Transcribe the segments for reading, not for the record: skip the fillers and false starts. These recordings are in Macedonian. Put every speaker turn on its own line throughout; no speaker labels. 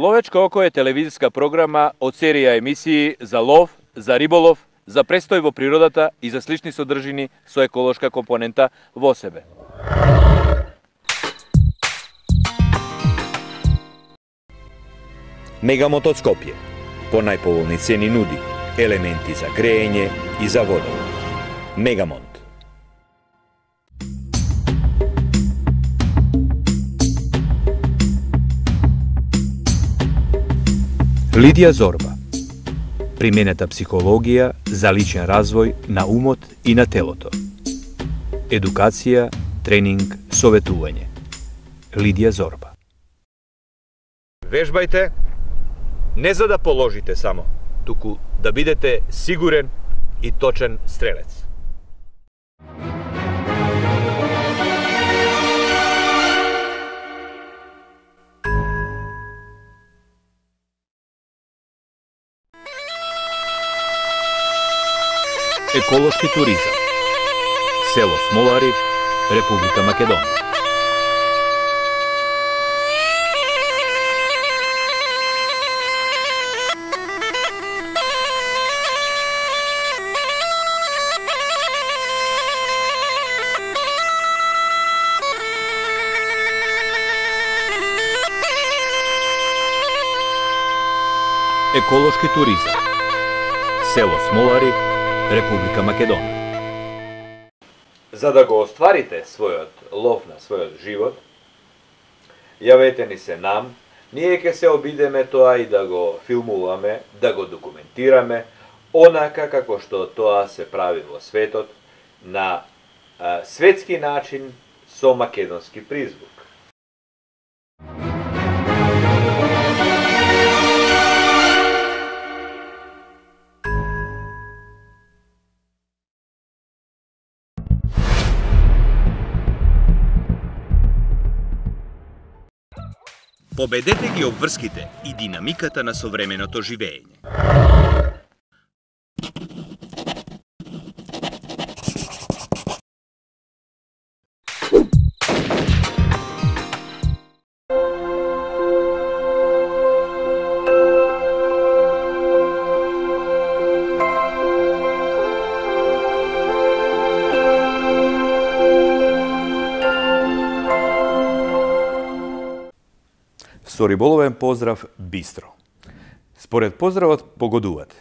Ловечко око е телевизиска програма од серија емисии за лов, за риболов, за престој во природата и за слични содржини со еколошка компонента во себе.
Мегамонт од Скопје по најповолни цени нуди елементи за греење и за водовод. Мегамонт.
Лидија Зорба. Применета психологија за личен развој на умот и на телото. Едукација, тренинг, советување. Лидија Зорба.
Вежбајте не за да положите само, туку да бидете сигурен и точен стрелец.
Еколошки туризам. Село Смолари, Република Македонија. Еколошки туризам. Село Смолари, Република Македонија.
За да го остварите својот лов на својот живот, јавете ни се нам, ние ќе се обидеме тоа и да го филмуваме, да го документираме, онака како што тоа се прави во светот, на светски начин со македонски призвук.
Победете ги обврските и динамиката на современото живење.
Со риболовен поздрав бистро. Според поздравот погодувате.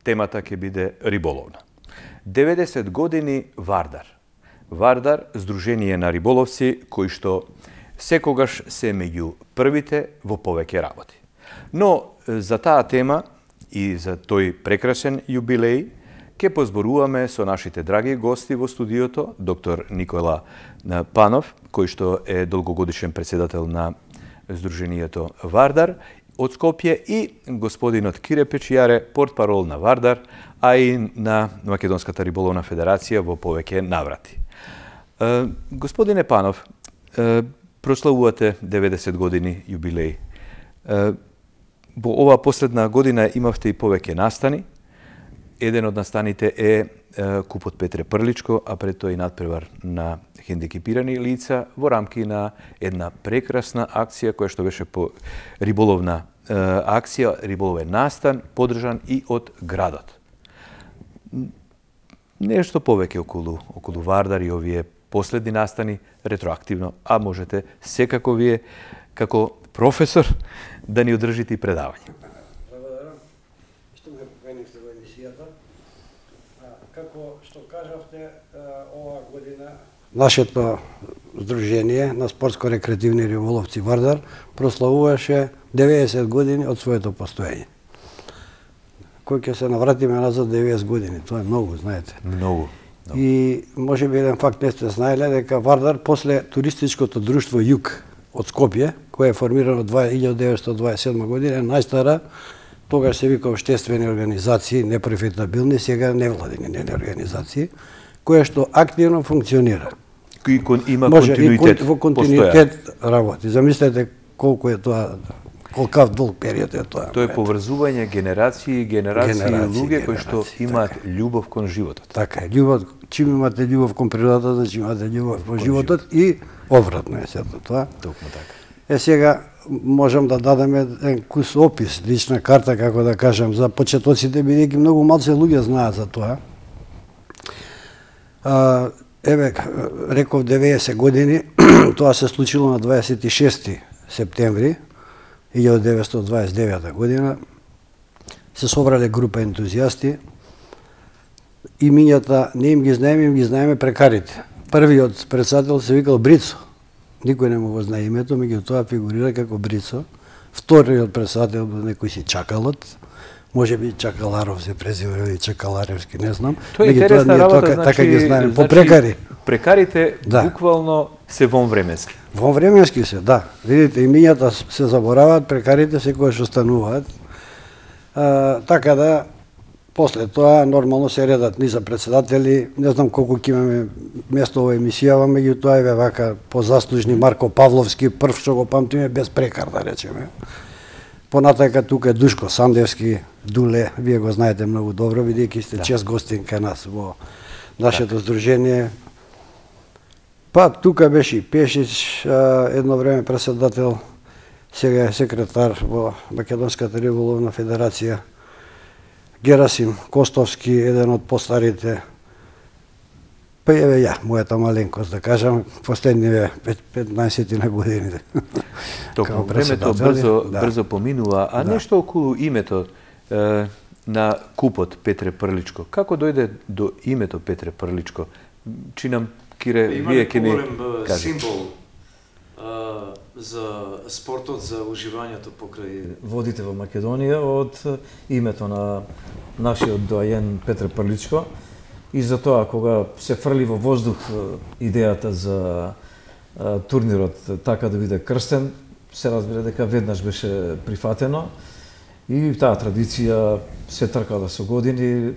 Темата ќе биде риболовна. 90 години Вардар. Вардар, здружение на риболовци кои што секогаш се меѓу првите во повеќе работи. Но за таа тема и за тој прекрасен јубилеј ќе позборуваме со нашите драги гости во студиото, доктор Никола Панов, кој што е долгогодишен председател на Здруженијето Вардар од Скопје и господинот Кире Печијаре, портпарол на Вардар, а и на Македонската риболовна федерација во повеќе наврати. Господине Панов, прославувате 90 години јубилеј. Во оваа последна година имавте и повеќе настани. Еден од настаните е купот Петре Прличко, а пред тоа и надпревар на хендикипирани лица во рамки на една прекрасна акција која што беше по риболовна акција, риболовен настан, подржан и од градот. Нешто повеќе околу Вардар и овие последни настани ретроактивно, а можете секако вие како професор да ни одржите и предавање.
Благодарам што ме поканивте во емисијата. Како што кажавте, оваа година нашето здружение на спортско-рекреативни риболовци Вардар прославуваше 90 години од своето постоење. Кој ќе се навратиме назад 90 години, тоа е многу, знаете.
Многу.
И може би еден факт не сте знаеле дека Вардар после туристичкото друштво Југ од Скопје, кое е формирано 1927 година, е најстара, тогаш се вика општествени организации, непрофитабилни, сега невладини организации, која што активно функционира.
Кој има континуитет.
Во континуитет работи. Замислете колку е тоа, колкав долг период е тоа.
Тоа е поврзување генерации луѓе кои што имаат љубов кон животот.
Така е, љубов, чим имате љубов кон природата, значи имате љубов кон животот и обратно е сето тоа.
Токму така.
Сега можам да дадеме еден кус опис, лична карта, како да кажам, за почетоците, бидејќи многу малце луѓе знаат за тоа. Еве, реков 90 години, тоа се случило на 26 септември 1929 година. Се собрале група ентузијасти, имињата не им ги знаеме прекарите. Првиот председател се викал Брицо. Никој не му го знае името, меѓутоа фигурира како Брицо. Вториот председател бил некој си Чакалот. Може би Чакаларов се презива или Чакаларевски, не знам.
Тоа е интересна работа,
така ги знаеме, по прекари.
Прекарите буквално се вонвременски.
Вонвременски се, да. Видите, имињата се забораваат, прекарите секогаш остануваат. Така да, после тоа нормално се редат ни за председатели, не знам колку ќе имаме место во емисијава, меѓутоа еве вака позаслужни Марко Павловски, прв што го памтиме без прекар, да речеме. Понатака тука е Душко Сандевски, Дуле, вие го знаете многу добро, бидејќи сте чест гостин кај нас во нашето здружение. Па тука беше и Пешич, едно време председател, сега е секретар во Македонската риболовна федерација. Герасим Костовски, еден од постарите. Па еве ја, мојата маленкост, да кажам, последниве 15 на годините.
Токму времето брзо поминува, а нешто околу името на купот Петре Прличко. Како дојде до името Петре Прличко? Чинам, Кире, вие ќе ни кажете.
Символ за спортот, за уживањето покрај водите во Македонија од името на нашиот доаен Петре Прличко. И за тоа, кога се фрли во воздух идејата за турнирот така да биде крстен, се разбира дека веднаш беше прифатено и таа традиција се тркала со години,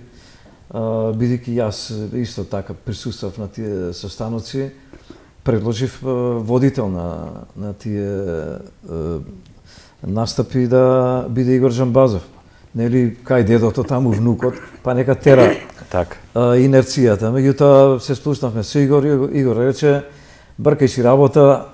бидејќи јас исто така присуствав на тие состаноци, предложив водител на тие настапи да биде Игор Джамбазов. Нели, кај дедото таму внукот, па нека тера инерцијата. Меѓутоа се спуснавме со Игор, Игор рече, бркај си работа,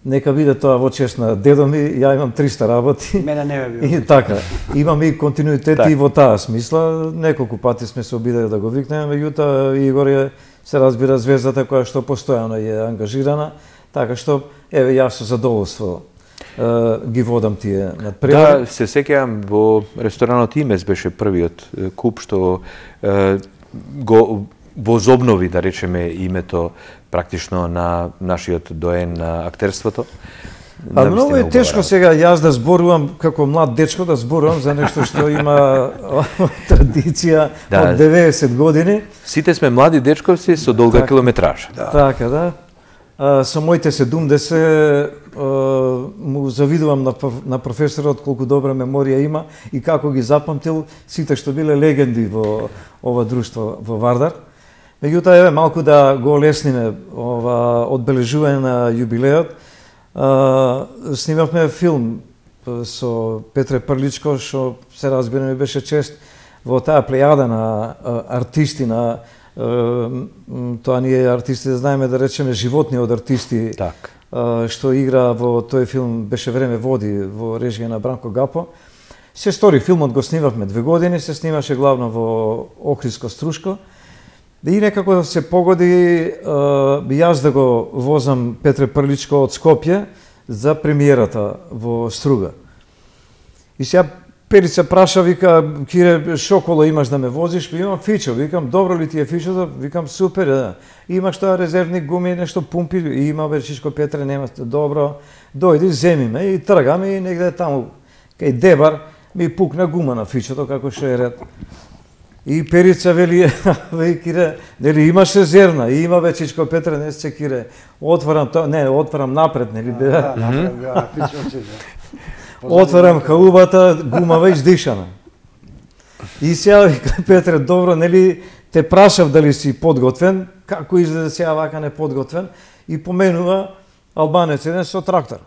нека биде тоа во чест на дедо ми, ја имам 300 работи.
Мене не бе било.
И така, имаме и континуитет и во таа смисла. Неколку пати сме се обидели да го викнеме, меѓутоа Игор е, се разбира, звездата која што постојано е ангажирана, така што, еве, јас со задоволство ги водам тие надпревари.
Да, се сеќавам, во ресторанот Имес беше првиот куп што го возобнови, да речеме, името практично на нашиот доен на актерството.
Многу е тешко сега јас да зборувам како млад дечко, да зборувам за нешто што има традиција од 90 години.
Сите сме млади дечковци со долга километража.
Така, да. Со моите 70 му завидувам на професорот колку добра меморија има и како ги запамтил сите што биле легенди во ова друштво во Вардар. Меѓутоа, еве, малку да го олесниме ова одбележување на юбилеот. Снимавме филм со Петре Прличко, што се разбира ми беше чест во таа плејада на артисти, на тоа ние артисти да знаеме, да речеме, животни од артисти, што игра во тој филм, беше време води во режија на Бранко Гапо. Се стори, филмот го снимавме 2 години, се снимаше главно во Охридско Струшко. И некако се погоди јас да го возам Петре Прличко од Скопје за премиерата во Струга. И сега Перица праша, вика, Кире, шо коло имаш да ме возиш? Имам фичо, викам, добро ли ти е фичото? Викам, супер, да. Имаш тоа резервни гуми, нешто пумпи, има Берчичко Петре, нема, добро, дојди, земи ме и тргам и негде таму, кај Дебар, ми пукна гума на фичото, како што е ред. И Перица вели, Кире, нели имаш резервна, и има Берчичко Петре, не се Кире, отварам тоа, не, отварам напред, нели?
Да, напред, да, фичото.
Отварам хаубата, гумава издишана. И сега вика Петре, добро, нели те прашав дали си подготвен, како изгледа сега вака неподготвен, и поменува албанец еден со трактор.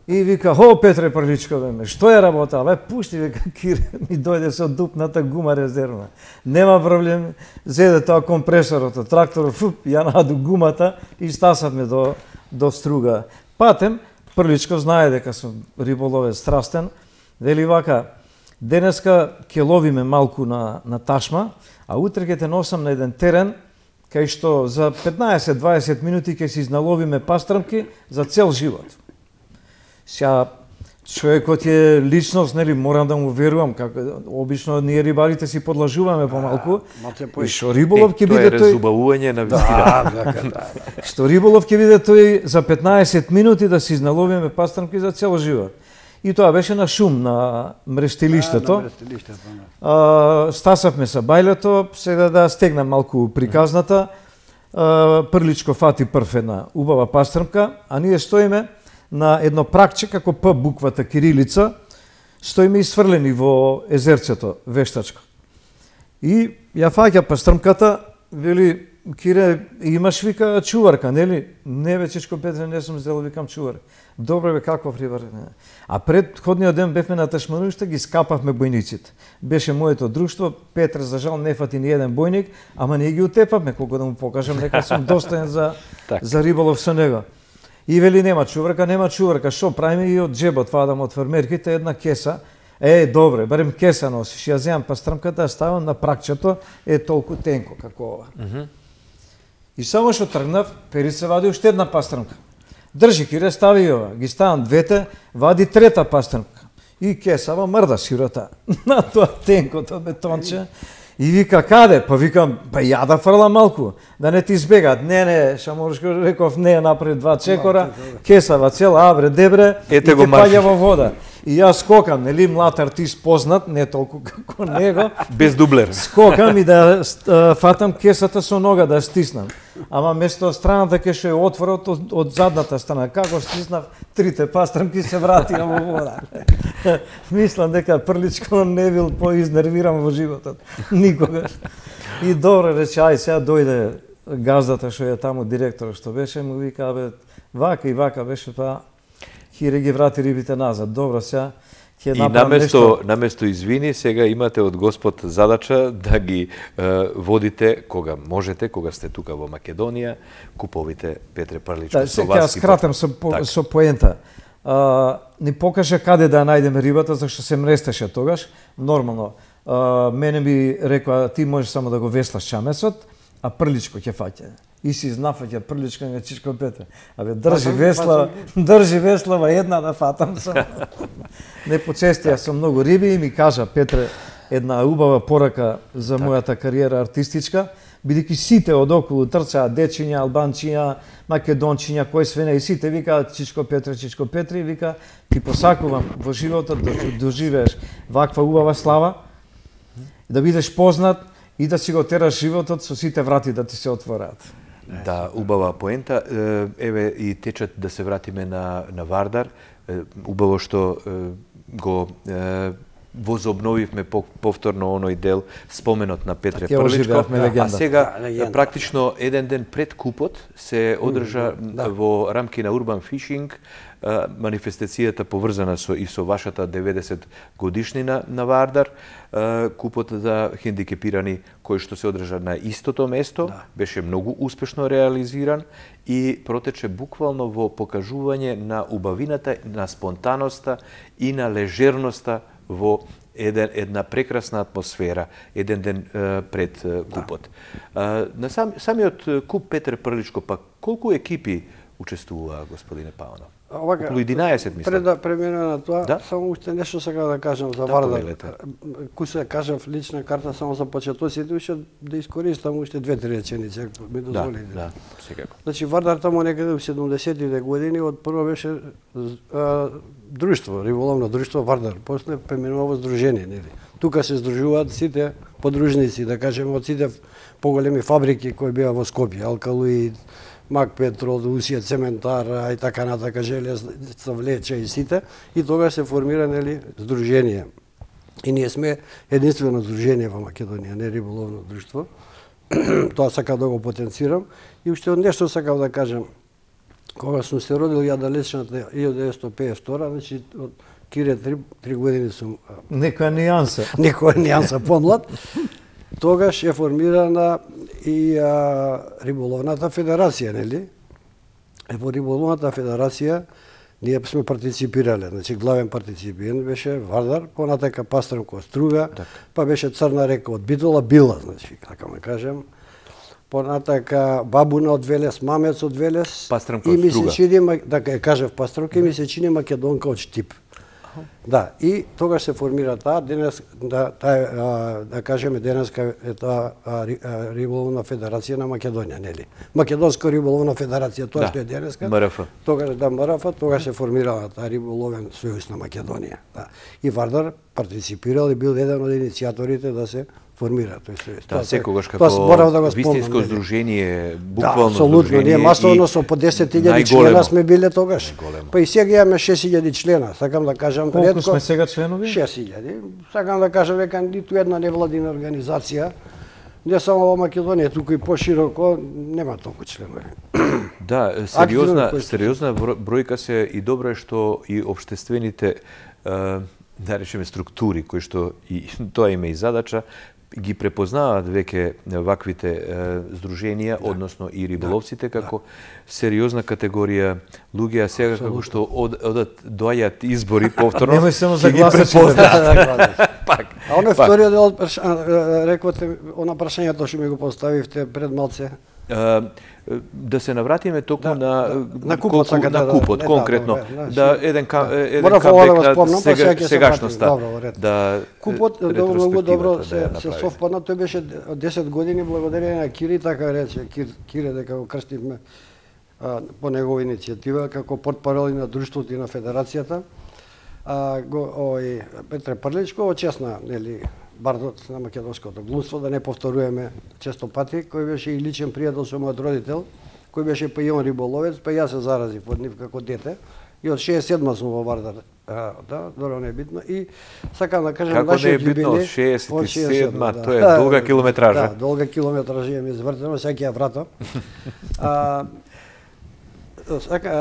И вика, хо, Петре Прличко, бе, што е работа? Бе, пушти, вика, Кире, ми дојде со дупната гума резервна. Нема проблем, зеде тоа компресорот од тракторот, фуп, ја наду гумата и стасавме до Струга. Патем, Приличко знае дека сум риболовец страстен, вели вака, денеска ќе ловиме малку на ташма, а утре ќе те носам на еден терен, кај што за 15-20 минути ќе си изналовиме пастрмки за цел живот. Сега, човекот е личност, нели, морам да му верувам, како обично ние рибарите си подлажуваме помалку. И што риболов ќе биде
тој... Тоа е разубавување на вистина.
Што риболов ќе биде тој за 15 минути да си изналовиме пастрмки за цел живот. И тоа беше на шум, на мрештилиштето. Стасавме са бајлето, сега да стегнам малку приказната. Приличко фати прв една убава пастрмка, а ние стоиме на едно пракче, како П буквата кирилица, стоиме изфрлени во езерцето, вештачко. И ја фаќа пастрмката, вели, Кире, имаш, вика, чуварка, нели? Не бе, Чичко Петре, не сум сделал, викам чувар. Добре бе, каков рибар? А предходниот ден бевме на Ташманушта, ги скапавме бојниците. Беше моето друштво, Петре, за жал, не фати ни еден бојник, ама ние ги утепавме, колко да му покажам, нека сум достоен за риболов со него. И вели, нема чуварка, шо правиме и од джебот, вадам од фермерките една кеса. Добре, барем кеса носиш, ја земам пастрмката, ставам на пракчето, толку тенко како ова. И само што тргнав, Пери се вади уште една пастрмка. Држи, Кире, стави ова. Ги ставам двете, вади трета пастрмка. И кесава мрда сирота на тоа тенкото бетонче. И вика, каде? Па викам, ја да фрлам малку, да не ти избегат. Не, Шаморшко реков, не, направи 2 чекора, кесава цела, абре, дебре, и те паѓа во вода. И јас скокам, нели, млад артист познат, не толку како него.
Без дублер.
Скокам и да фатам кесата со нога, да стиснам. Ама место страната ке што е отворот од задната страна. Како стиснав, трите пастрмки се вратија во вода. Мислам дека Приличко не бил поизнервиран во животот. Никогаш. И добре рече, ај сега дојде газдата што е таму, директор што беше, му вика, бе, вака и вака беше, па Кире ги врати рибите назад. Добро, сега ќе направам нешто.
И наместо извини, сега имате од Господ задача да ги водите кога можете, кога сте тука во Македонија, куповите Петре Приличко со вас.
Сега скратам со поента. Ни покаже каде да најдеме рибата, зашто се мрестеше тогаш. Нормално. Мене ми рекоа, ти можеш само да го веслаш чамесот, а Приличко ќе фаќа. И си изнафаќа Приличко на Чичко Петре. Абе, држи веслава една да фатам сам. Не почестија со многу риби и ми кажа Петре една убава порака за мојата кариера артистичка, бидејќи сите од околу трчаа дечиња, албанчиња, македончиња, кој све не, и сите викаат Чичко Петре, и вика, ти посакувам во животот да доживееш ваква убава слава, да бидеш познат и да си го тераш животот со сите врати да ти се отвораат.
Да, убава поента. Еве и течат да се вратиме на Вардар. Убаво што го возобновивме повторно оној дел, споменот на Петре Приличко. А сега, практично еден ден пред купот се одржа во рамки на Urban Fishing манифестацијата поврзана и со вашата 90 годишнина на Вардар, купот за хендикепирани кој што се одржа на истото место, беше многу успешно реализиран и протече буквално во покажување на убавината, на спонтаноста и на лежерноста во една прекрасна атмосфера, еден ден пред купот. На самиот куп Петре Приличко, па колку екипи учествуваа, господине Паунов? Околу 11, мислам.
Пред да преминеме на тоа, само уште нешто сакам да кажам за Вардар. Кој се кажав лична карта само за почетоците, уште да искористам уште 2-3 реченици, ако ми дозволите.
Да, секако.
Значи Вардар таму некаде во 70-тите години од прво беше друштво, риболовно друштво Вардар, после преминува во здружение, нели. Тука се здружуваат сите подружници, да кажеме, од сите поголеми фабрики кои беа во Скопје, Алкалоид, Макпетрол, Усија, Цементара и така натака, Железница, Влече и сите, и тогаш се формира, нели, здружение. И ние сме единствено здружение во Македонија, не риболовно друштво. Тоа сакам да го потенцирам. И уште нешто сакам да кажам. Кога сум се родил ја далечната 1952, значи од Кире 3 години сум...
Некоја
нијанса помлад. Тогаш е формирана и риболовната федерација, нели? Во риболовната федерација ние сме партиципирале. Значи главен партиципиент беше Вардар, понатака Пастренко Струга, па беше Црна река од Битола Била, значи така ме кажем. Понатака Бабуна од Велес, Мамец од Велес.
Пастренко
и ми
Струга.
се чини, така кажав Пастренко, и ми се чини македонка од Штип. Да, и тогаш се формира таа, денес, да кажеме, денеска е таа риболовна федерација на Македонија, нели? Македонска риболовна федерација, тоа што е денеска.
МРФ.
Тогаш, да, МРФ, тогаш се формирала таа риболовен сојуз на Македонија. Да. И Вардар партиципирал и бил еден од иницијаторите да се формира тој сојуз.
Да, секогаш
тоа зборав да го
како вистинско
спомнам, нели?
здружение,
Да,
буквално
апсолутно. Ние
здружение
масовно
и
со по 10.000
најголемо.
члена сме биле тогаш.
Најголемо.
Па и сега имаме 6.000 члена, сакам да кажам.
Колку сме сега членови?
6.000. Сакам да кажам дека ниту една невладина организација, не само во Македонија, туку и пошироко, нема толку членови.
Да, сериозна бројка се и добро е што и општествените да речеме структури кои што и тоа има и задача ги препознаваат веќе ваквите здруженија, односно и риболовците како сериозна категорија луѓе, а сега како што одат доаѓаат избори повторно.
Немој само за
ќе ги
гласачите.
препознаат. Пак.
А оној вториот дел, рековте, она прашањето што ми го поставивте пред малце.
Да се навратиме токму
на купот,
на купот конкретно. Да, еден
Морав ова да го
камбек
спомнам, па сега ќе се
сегашноста.
вратим. Добро, ред.
Да,
Купот многу добро
да
се совпадна, тој беше 10 години благодарение на Кири, така рече Кире дека го крстивме по негова иницијатива како портпарол и на друштвото и на федерацијата. Петре Прличко очесна, нели, бардот на македонското глумство, да не повторуваме често пати, кој беше и личен пријател со мојот родител, кој беше па и он риболовец, па јас се заразив од нив како дете. И од 67 сум во Вардар. Да, добро не е битно. И сакам да кажам
како не е битно од 67-ма, тоа е долга километража.
Да, долга километража ми извртено, сега ќе ја вратам.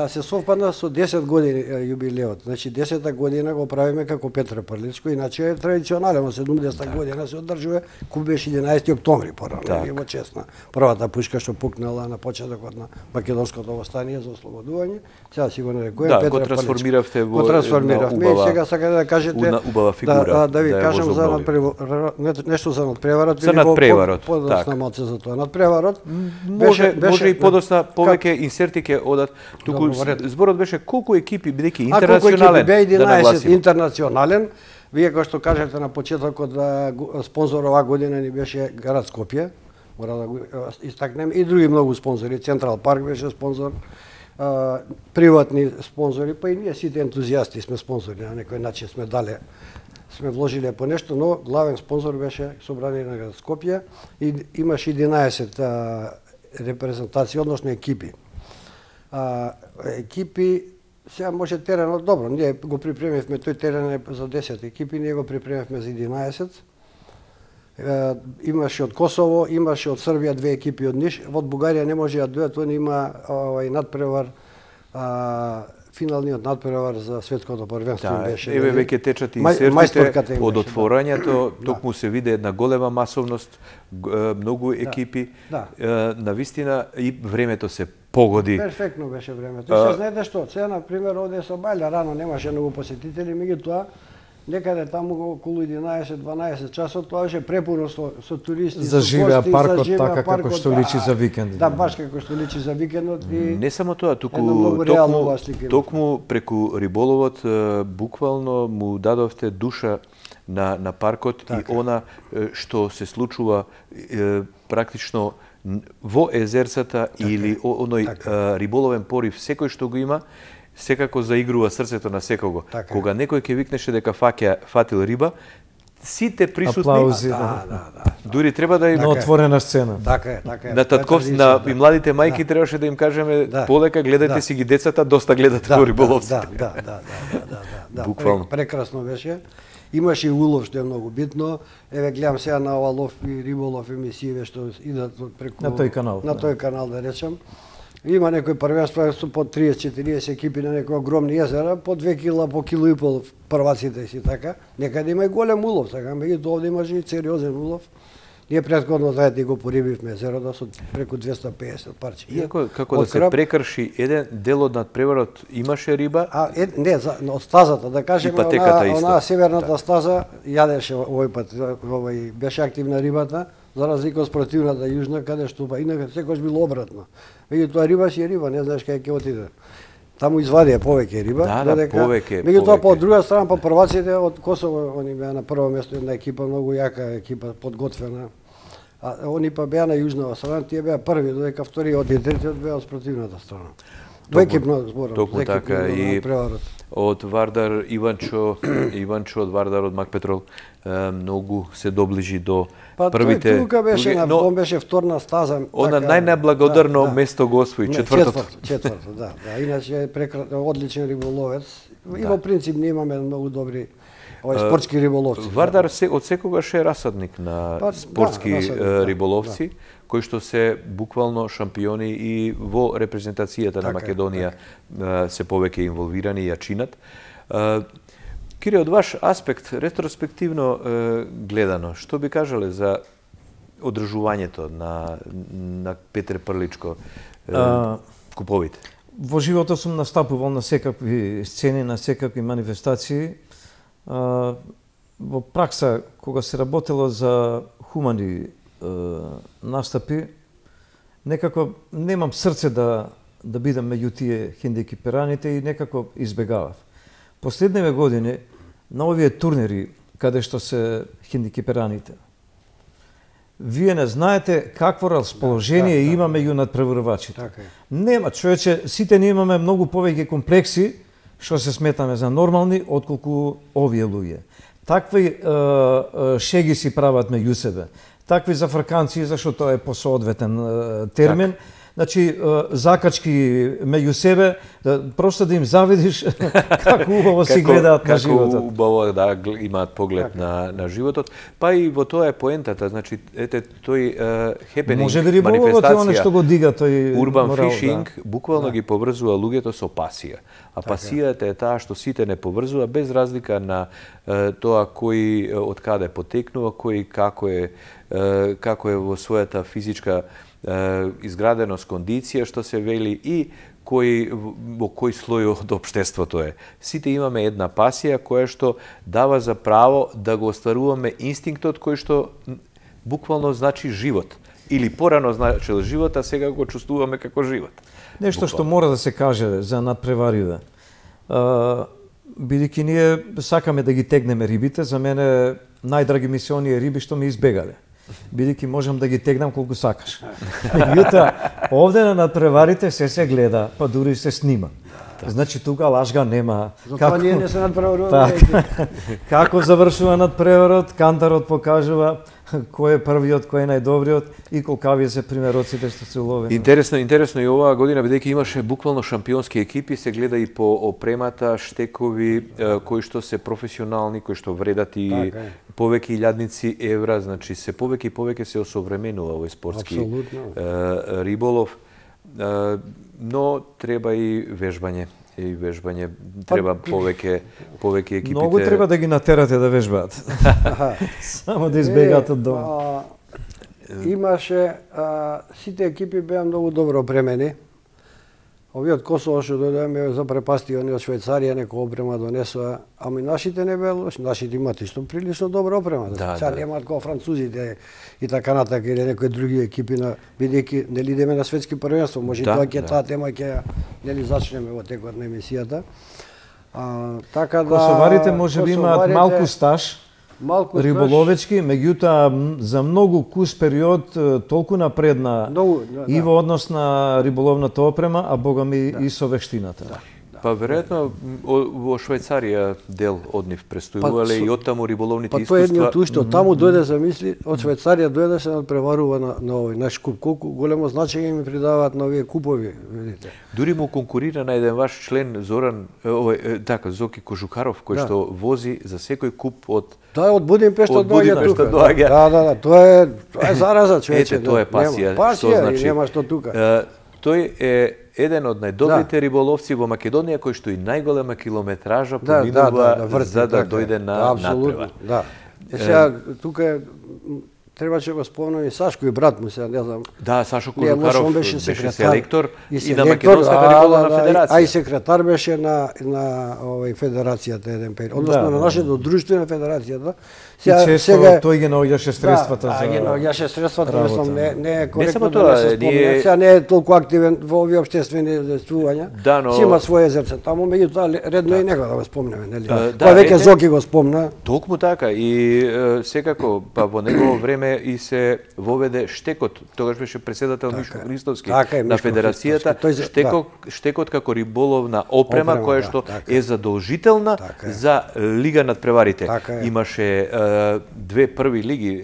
Се совпадна со 10 години јубилеот. Значи 10-та година го правиме како Петре Прличко, иначе е традиционален, 70-та година се одржува, куп беше 11 октомври порано, во честна. Првата пушка што пукнала на почетокот на македонското востание за ослободување, сега си го нарекувам
Петре
Петре
Прличко. Да, го трансформиравте во
убава, сега сака да кажете
убава фигура.
Да ви кажам за нешто за надпреварот.
За надпреварот,
подосна малце за тоа. Надпреварот
може и подосна повеќе инсерти ќе одат. Туку зборот беше колку екипи, бидејќи интернационален,
да нагласиме. Интернационален, вие кој што кажете на почетокот да спонзор оваа година ни беше град Скопје, мора да го истакнем, и други многу спонзори, Централ парк беше спонзор, приватни спонзори, па и ние сите ентузијасти сме спонзори, на некој начин сме вложиле по нешто, но главен спонзор беше Собрание на град Скопје и имаше 11 репрезентации, односно екипи. Екипи, сега може теренот, добро, ние го припремивме, тој терен е за 10 екипи, ние го припремивме за 11. Имаше од Косово, имаше од Србија 2 екипи од Ниш, од Бугарија не може да дојдат, он има надпревар, финалниот надпревар за светското првенство беше.
Еве веќе течат инсертите од отворањето, токму се виде една голема масовност, многу екипи, на вистина и времето се погоди.
Перфектно беше времето. И се знаете што, сега на пример овде со Бајле рано немаше многу посетители, меѓутоа некаде таму околу 11-12 часот тоа беше препуно со туристи,
за живеа паркот така како што личи за викенд.
Да, баш како што личи за викендот и
не само тоа, токму преку риболовот буквално му дадовте душа на паркот и она што се случува практично во езерцата или оној риболовен порив секој што го има, секако заигрува срцето на секого. Кога некој ќе викнеше дека фатил риба, сите присутни
аплаузи,
дури треба да им
на отворена сцена.
Така е.
На татковци, на и младите мајки требаше да им кажеме полека гледајте си ги децата, доста гледате во риболовците.
Да.
Буквално.
Прекрасно беше. Имаше и улов што е многу битно. Еве гледам сега на ова лов и риболов емисији што идат преку
на тој канал.
На тој канал да речем. Има некои првенства со по 30-40 екипи на некои огромни езера, по 2 кила, по кило и пол прваците си така. Некаде има и голем улов, така, меѓутоа овде имаше и сериозен улов. Ние претходно заедно го порибивме езерото со преку 250 парче.
Иако како да се прекрши еден дел од надпреварот имаше риба?
Не, од стазата, да кажеме, она северната стаза јадеше овој пат, беше активна рибата, за разлика од спротивната јужна, каде што инака секојаш било обратно. Меѓутоа риба си е риба, не знаеш кај ќе отиде. Таму извадија повеќе риба,
повеќе.
Меѓутоа по друга страна по прваците од Косово, они беа на прво место, една екипа многу јака екипа, подготвена. А они па беа на јужната страна, тие беа први, додека вториот и третиот беа од спротивната страна. Двоекипно зборам.
Токму така и од Вардар Иванчо од Вардар од Макпетрол многу се доближи до првите.
Тука беше он беше вторна стаза.
Она најнеблагодарно место го освои, четвртото.
Четврто, да. Иначе одличен риболовец. И во принцип ние имаме многу добри спортски риболовци.
Вардар од секогаш е расадник на спортски риболовци, кои што се буквално шампиони и во репрезентацијата на Македонија се повеќе инволвирани и ја чинат. Кире, од ваш аспект, ретроспективно гледано, што би кажале за одржувањето на Петре Прличко куповите?
Во животот сум настапувал на секакви сцени, на секакви манифестации. Во пракса, кога се работело за хумани настапи, некако немам срце да бидам меѓу тие хендикепираните и некако избегавав. Последниве години на овие турнири каде што се хендикепираните, вие не знаете какво расположение има меѓу надпреварувачите. Нема, човече, сите ние имаме многу повеќе комплекси што се сметаме за нормални отколку овие луѓе. Такви шеги си прават меѓу себе. Такви зафрканци, зашто тоа е посоодветен термин. Значи, закачки меѓу себе, просто да им завидиш како убаво си гледаат на животот.
Како убаво да имаат поглед на животот. Па и во тоа е поентата, значи, ете, тој хепенинг,
манифестација, оно што го дига тој
урбан фишинг, буквално ги поврзува луѓето со пасија. А пасијата е таа што сите не поврзува, без разлика на тоа кој од каде потекнува, кој како е во својата физичка изграденост, кондиција, што се вели, и во кој слој од општеството е. Сите имаме една пасија која што дава за право да го остваруваме инстинктот кој што буквално значи живот. Или порано значил живот, а сега го чувствуваме како живот.
Нешто што мора да се каже за надпревариве. Бидејќи ние сакаме да ги тегнеме рибите, за мене најдраги ми се оние риби што ми избегале. Бидејќи можам да ги тегнам колку сакаш. Меѓутоа, овде на надпреварите се гледа, па дури се снима. Значи тука лажга нема.
Затоа ние не се надпреваруваме.
Како завршува надпреварот, кантарот покажува кој е првиот, кој е најдобриот и колкави се примероците што се уловени.
Интересно и оваа година, бидејќи имаше буквално шампионски екипи, се гледа и по опремата, штекови, кои што се професионални, кои што вредат и повеќе илјадници евра, значи се повеќе и повеќе се осовременува овој спортски риболов, но треба и вежбање. Треба повеќе екипите.
Многу треба да ги натерате да вежбаат. Само да избегаат од дома.
Имаше, сите екипи беа многу добро опремени. Овие од Косово што дојдеме запрепасти, они од Швајцарија некоја опрема донесоа, ами нашите не беа лоши, нашите имаат исто прилично добра опрема. Сега немаат како французите и така натака или некои други екипи, бидејќи нели идеме на светски првенство, може тоа ќе таа тема ќе нели зачнеме во текот на емисијата. Така да
косоварите може би имаат малку стаж. Риболовечки, меѓутоа за многу кус период толку напредна и во однос на риболовната опрема, а богами и со вештината.
Па веројатно во Швајцарија дел од нив престојувале и оттаму риболовните искуства.
Па тоа е едно тушто, таму дојде за мисли, од Швајцарија дојде се надпреварува на овој наш куп. Колку големо значење ми придаваат на овие купови, видите.
Дури му конкурира на еден ваш член Зоран, Зоки Кожухаров, кој што вози за секој куп од
од Будимпешта доаѓа тука. Да, тоа е зараза, човече.
Ете, тоа е пасија.
Што значи? Нема што тука.
Тој е еден од најдобрите риболовци во Македонија, кој што и најголема километража поминува за да дојде на надпревар.
Да. Сега тука требаше го спомнам и Сашко и брат му се, не знам.
Да, Сашо
Не, лошо,
Кожукаров
он беше
беше
секретар
селектор
и
и на
селектор,
Македонската риболовна федерација.
А и секретар беше на федерацијата еден период. Односно на нашето друштво на федерацијата.
И често тој ги наоѓаше средствата за
ги наоѓаше средствата,
работа.
мислам, не е
Не
коректно
само
да
тоа,
не се спомне. Сега не е толку активен во овие општествени действувања.
Да, но-
Си има своје зерце таму, меѓутоа редно и него да го спомнеме, нели?
Да,
Тоа веќе
редно.
Зоки го спомна.
Токму така и секако па во негово време и се воведе штекот. Тогаш беше председател Мишко Христовски
Така е,
на
Мишко
федерацијата.
Христовски. Тој
Штекот како риболовна опрема
Опрема,
која
да,
што
така
е задолжителна
Така е.
за Лига надпреварите.
Така е.
Имаше две први лиги,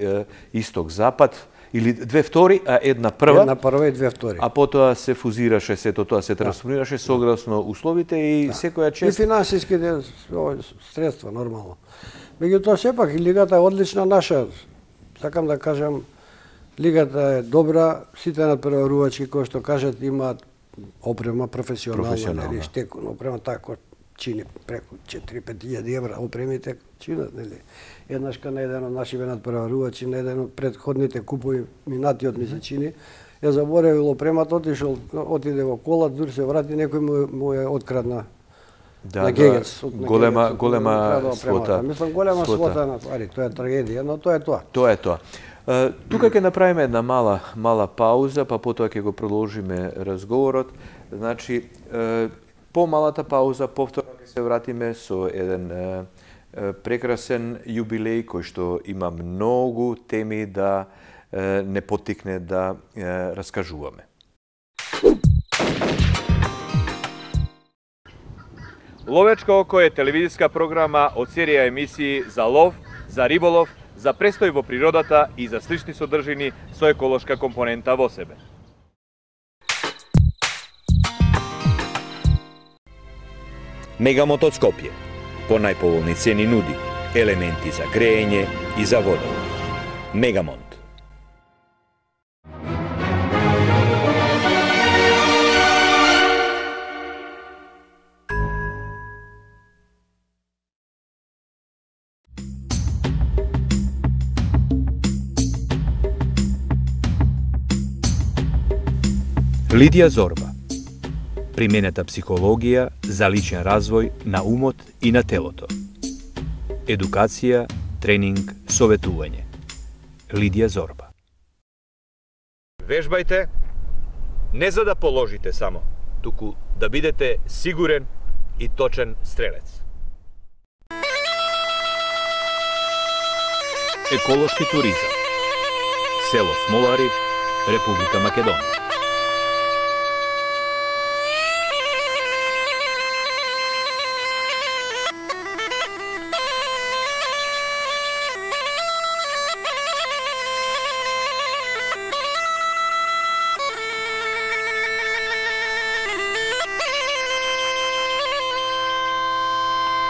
исток-запад, или две втори, а една прва.
Една прва и две втори.
А потоа се фузираше сето тоа, се трансформираше согласно условите и секоја
И
чест.
финансиски средства, нормално. Меѓутоа, сепак, и лигата е одлична наша. Сакам да кажам, лигата е добра, сите надпреварувачки, кои што кажат, имаат опрема професионална, нели, штекон, опрема така, чини преку 4-5 евра, опремите чинат, нели. Еднаш на еден од нашите надпреварувачи, на еден од предходните купови, минатиот ми се чини, ја заборевил опремата, отиде во кола, дури се врати, некој му е открадна на Гегец.
Голема свота.
Мислам, голема свота на твари, тоа е трагедија, но тоа е тоа.
Тоа е тоа. Тука ќе направиме една мала пауза, па потоа ќе го продолжиме разговорот. Значи, по малата пауза повторно ќе се вратиме со еден прекрасен јубилеј кој што има многу теми да не поттикне да раскажуваме.
Ловечко око е телевизиска програма од серија емисии за лов, за риболов, за престој во природата и за слични содржини со еколошка компонента во себе.
Мегамонт од Скопје. По најповолни цени нуди елементи за грејење и за водовод. Мегамонт.
Лидија Зорба. Применета психологија за личен развој на умот и на телото. Едукација, тренинг, советување. Лидија Зорба.
Вежбајте не за да положите само, туку да бидете сигурен и точен стрелец.
Еколошки туризам. Село Смолари, Република Македонија.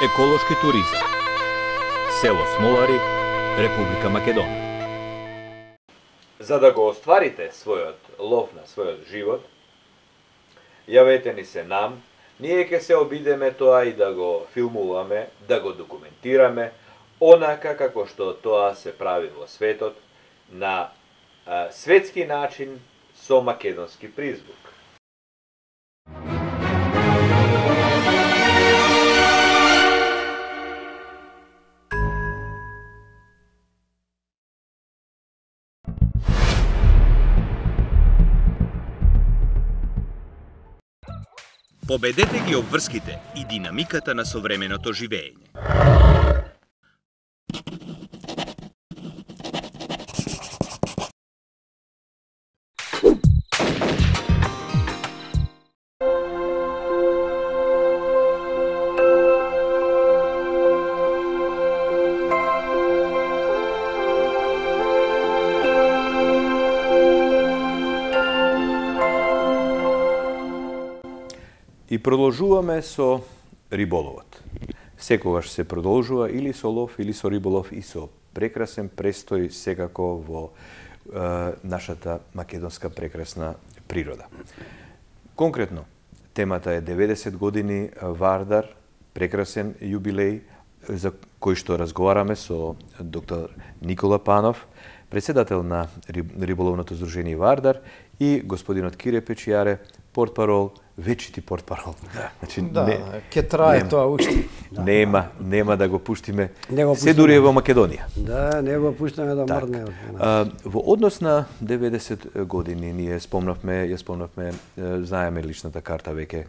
Еколошки туризам. Село Смолари, Република Македонија.
За да го остварите својот лов на својот живот, јавете ни се нам, ние ќе се обидеме тоа и да го филмуваме, да го документираме, онака како што тоа се прави во светот, на светски начин со македонски призвук.
Победете ги обврските и динамиката на современото живење.
И продолжуваме со риболовот. Секогаш се продолжува или со лов, или со риболов и со прекрасен престој секако во нашата македонска прекрасна природа. Конкретно, темата е 90 години Вардар, прекрасен јубилеј за кој што разговараме со доктор Никола Панов, председател на риболовното здружение Вардар и господинот Кире Печијаре, портпарол, вечити портпарол. Значи,
ќе трае тоа уште.
Нема да го пуштиме.
Го
се дури е во Македонија.
Да, не го пуштаме да мрдне.
Во однос на 90 години ние спомнавме, знаеме личната карта веќе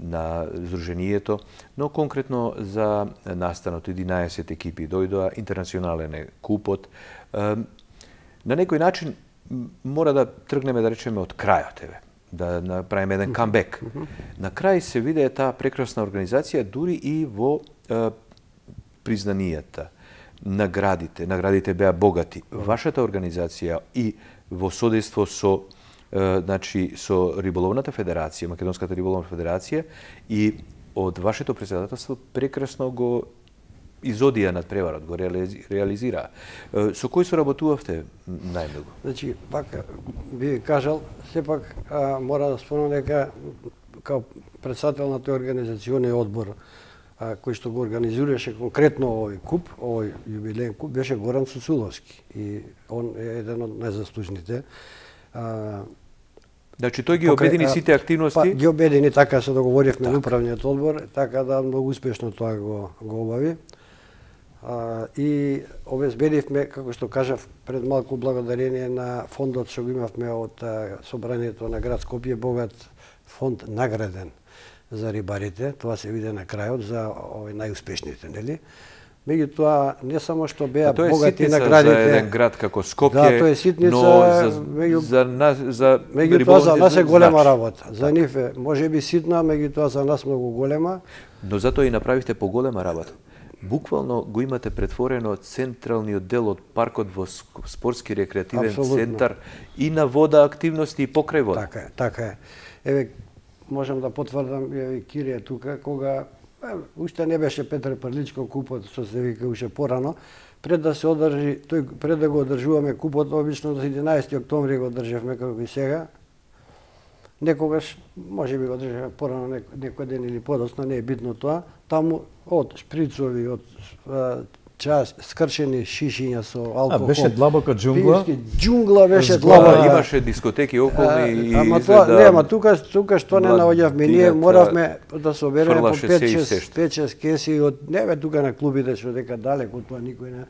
на здруженијето, но конкретно за настанот 11 екипи дојдоа, интернационален е купот. На некој начин мора да тргнеме, да речеме, од крајот, да направиме еден камбек. На крај се виде таа прекрасна организација дури и во признанијата, наградите беа богати. Вашата организација и во содейство со со Риболовната федерација, Македонската риболовна федерација, и од вашето председателство прекрасно го изодија над преварот, го реализираа. Со кој соработувавте најмногу?
Значи, пак би кажал, сепак мора да спомнам дека као председател на тој организациони одбор кој што го организираше конкретно овој куп, овој јубилеен куп, беше Горан Цуцуловски и он е еден од најзаслужните.
Значи тој ги обедини сите активности?
Ги обедини, така се договоривме на управниот одбор, така да многу успешно тоа го обави. И обезбедивме, како што кажав пред малку, благодарение на фондот што го имавме од собранието на град Скопје, богат фонд награден за рибарите, тоа се виде на крајот за овој најуспешните, нели? Меѓутоа, не само што беа богати наградите...
Тоа е ситница за еден град како Скопје,
да, тоа е ситница,
но
меѓутоа за нас е голема работа. За нив е, може би ситна, меѓутоа за нас многу голема.
Но затоа и направивте поголема работа. Буквално го имате претворено централниот дел од паркот во спортски рекреативен центар и на вода активности и покрај вода.
Така е. Еве, можам да потврдам, Кирија тука, кога уште не беше Петре Прличко купот, што се вика уште порано, пред да се одржи, пред да го одржуваме купот, обично до 11 октомври го одржавме како и сега. Некогаш, може би го одржавме порано некој ден или подоцна, не е битно тоа. Таму од шприцови, од скршени шишиња со алкохол.
Беше длабока џунгла.
Џунгла беше длабока.
Имаше дискотеки околни и
ама тука што не наоѓавме, ние моравме да собереме по 5-6 кеси од тука на клубите што дека далеку тоа никој не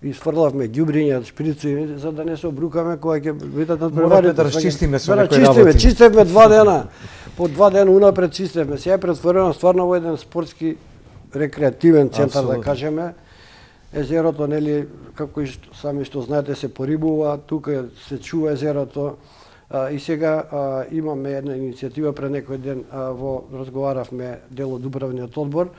изфрлавме ѓубриња, шприци за да не се обрукаме кога ќе видат над преварите.
Да расчистиме со некои работи.
Чистевме 2 дена. По 2 дена унапред чистевме. Сега е претворено стварно во еден спортски рекреативен центар, да кажеме. Езерото, нели, како и сами што знаете, се порибува, тука се чува езерото. И сега имаме една иницијатива, пред некој ден разговаравме дел од управниот одбор.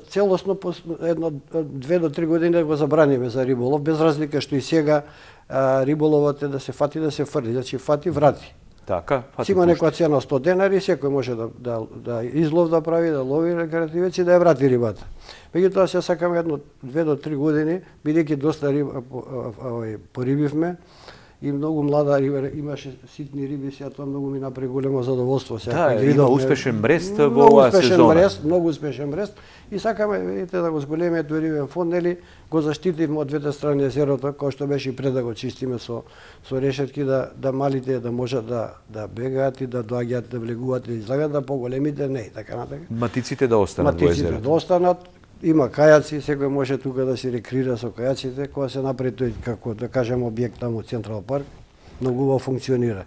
Целосно, едно 2 до 3 години да го забраниме за риболов, без разлика што и сега риболовот е да се фати, да се фрли, значи фати, врати.
Така,
фати. Има некоја цена 100 денари, секој може да излов да прави, да лови рекреативец и да ја врати рибата. Меѓутоа се сакаме едно 2 до 3 години, бидејќи доста порибивме и многу млада риба, имаше ситни риби, сега тоа многу ми направи големо задоволство.
Да, има успешен мрест во оваа сезона.
Многу успешен мрест и сакаме, видите, да го зголемиме тој рибен фонд, нели, го заштитивме од двете страни езерото, кој што беше и пред да го чистиме со решетки, да малите да можат да бегаат и да доаѓаат, да влегуваат и излагат, да поголемите не и така натака.
Матиците да останат во езерото.
Матиците да останат. Има кајаци, секој може тука да се рекреира со кајаците, кога се направи тој, како да кажем, објект таму Централ парк, многу убаво функционира.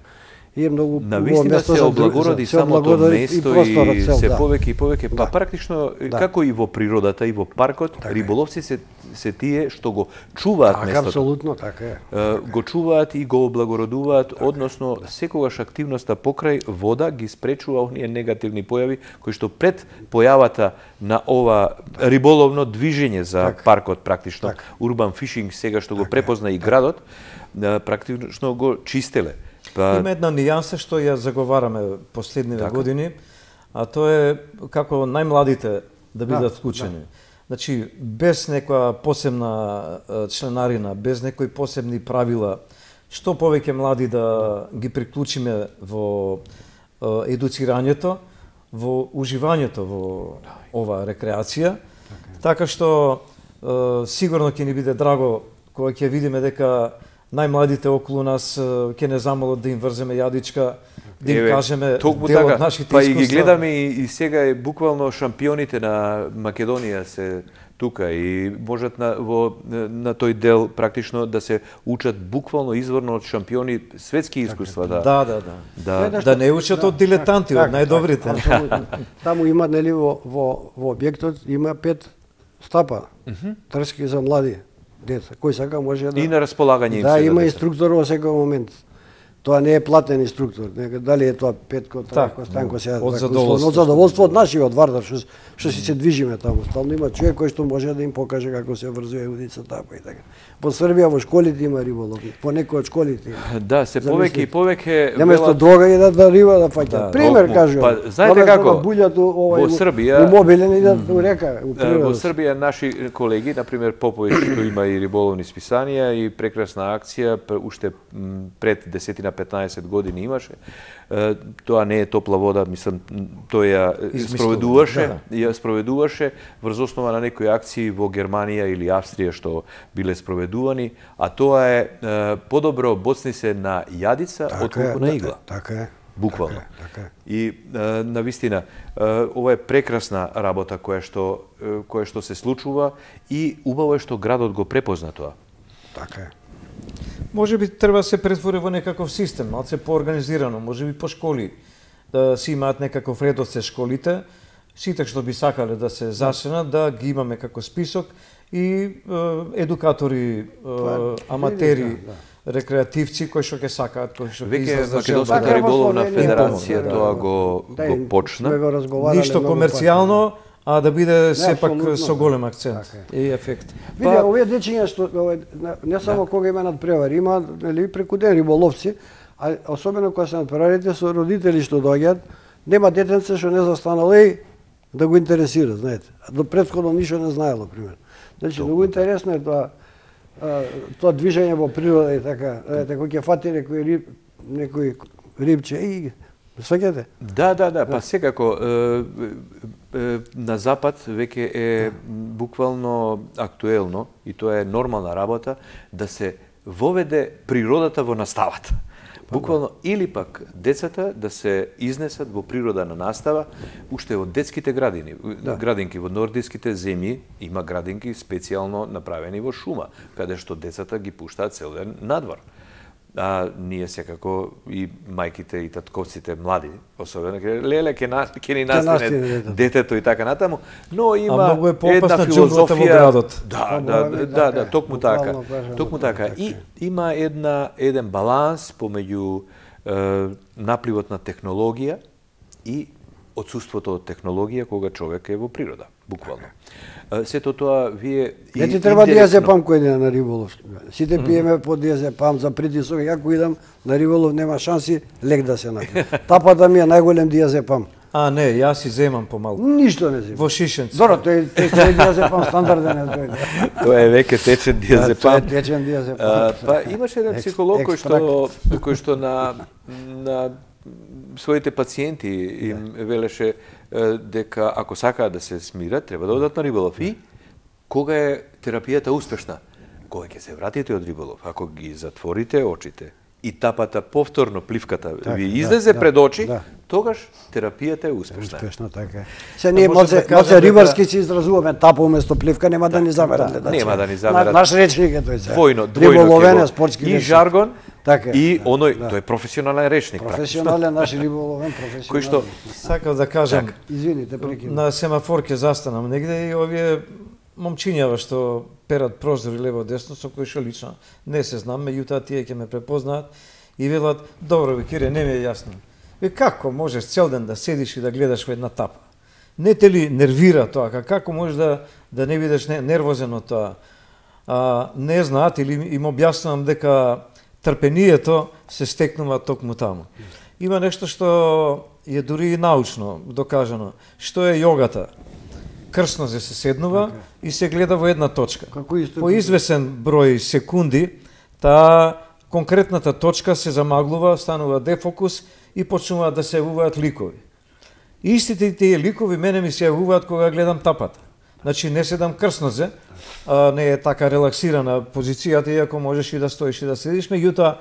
И е многу
навистина се облагороди самото место и се повеќе и повеќе, па практично како и во природата и во паркот, риболовци се тие што го чуваат местото.
Апсолутно, така е.
Го чуваат и го облагородуваат, односно секогаш активноста покрај вода ги спречува оние негативни појави кои што пред појавата на ова риболовно движење за паркот практично, урбан фишинг сега што го препозна и градот, практично го чистеле.
Има една нијанса што ја заговараме последниве години, а тоа е како најмладите да бидат вклучени. Значи, без некоја посебна членарина, без некои посебни правила, што повеќе млади да ги приклучиме во едуцирањето, во уживањето во ова рекреација, така што сигурно ќе ни биде драго кога ќе видиме дека најмладите околу нас ќе не замолат да им врземе јадичка, да им кажеме дел од нашите
па
искуства.
и ги гледаме и сега е буквално шампионите на Македонија се тука и можат на тој дел практично да се учат буквално изворно од шампиони светски искуства.
Да не учат од дилетанти, од најдобрите.
Таму има, нели, во објектот има 5 стапа, трски за млади деца. Кој сака може да...
И на располагање им
да,
се.
има инструктор во секој момент. Тоа не е платен инструктор, дали е тоа Петко, Трајко, Станко, сега
од
задоволство од нашиот од Вардар, што си се движиме таму. Стално има човек кој што може да им покаже како се врзува удица тапа и така. Во Србија во школите има риболов, по некои од школите има.
Да, се повеќе и повеќе
Наместо дрога идат да риба да фаќаат. Пример кажувам.
Па знаете како?
Во
Србија
мобилен идат у река, у природа.
Во Србија наши колеги, на пример Поповиќ, што има и риболовни списанија и прекрасна акција, уште пред 10-15 години имаше. Тоа не е топла вода, мислам, тој ја спроведуваше врз основа на некои акции во Германија или Австрија што биле спроведувани, а тоа е подобро боцни се на јадица отколку на игла.
Така е.
Буквално.
Така е.
И навистина ова е прекрасна работа која што се случува и убаво е што градот го препозна тоа.
Така е.
Може би треба да се претвори во некаков систем, малце поорганизирано, може би по школи, да си имаат некаков ред од се школите, сите што би сакале да се зашенат, да ги имаме како список и едукатори, аматери, рекреативци кои што ќе сакаат, кои што ќе
излезат. Македонската риболовна федерација тоа го почна.
Ништо комерцијално, а да биде сепак со голем акцент и ефект.
Види, овие дечиња што не само кога има надпревари, има нели преку ден риболовци, а особено кога се надпреварите со родители што доаѓаат, нема детенце што не застанало да го интересира, знаете. До претходно ништо не знаело, пример. Значи многу интересно е тоа движење во природа и така, кога ќе фати некој рибче сваќате?
Да, па секако на запад веќе е буквално актуелно и тоа е нормална работа да се воведе природата во наставата. Буквално или пак децата да се изнесат во природа на настава уште од детските градини, градинки во нордиските земји има градинки специјално направени во шума, каде што децата ги пуштаат цел ден надвор. А ние секако и мајките и татковците млади, особено леле ќе ни настине детето и така натаму, но има една филозофија
во градот.
Да, токму така. И има еден баланс помеѓу напливот на технологија и отсуството од технологија кога човек е во природа, буквално. Сето тоа вие
не ти треба диазепам кој иде на риболов. Сите пиеме по диазепам за притисок, ја кој идам на риболов нема шанси лек да се напи. Тапата ми е најголем диазепам.
А не, јас си земам помалку.
Ништо не земам.
Во шишенци.
Добро, тој е диазепам стандарден е тој.
Тоа е веќе течен диазепам.
Тоа е течен диазепам.
Па имаше еден психолог кој што на своите пациенти им велеше дека ако сакаат да се смират, треба да одат на риболов. И кога е терапијата успешна? Кога ќе се вратите од риболов? Ако ги затворите очите и тапата повторно пливката ви излезе пред очи, тогаш терапијата е успешна.
Успешна, така. Се ние може рибарски се изразуваме тапа уместо пливка, нема да ни замерат.
Нема да ни замерат.
Наш речник е тој се.
Двојно
риболовен спортски
и жаргон.
Така
и оној тој е професионален речник.
Професионален наш риболовен професионален.
Кој што
сакав да кажам,
извините, прекинав.
На семафор ќе застанам негде и овие момчињава што перат прозори лево десно со кои што лично не се знам, меѓутоа тие ќе ме препознаат и велат: "Добро бе, Кире, не ми е јасно. Како можеш цел ден да седиш и да гледаш во една тапа? Не те ли нервира тоа? Како можеш да не бидеш нервозен од тоа?" Не знаат или им објаснувам дека трпението се стекнува токму таму. Има нешто што е дури и научно докажано. Што е јогата? Крсно се седнува и се гледа во една точка. По извесен број секунди, таа конкретната точка се замаглува, станува дефокус и почнуваат да се јавуваат ликови. Истите тие ликови мене ми се јавуваат кога гледам тапата. Значи не седам крснозе, не е така релаксирана позицијата, иако можеш и да стоиш и да седиш, меѓутоа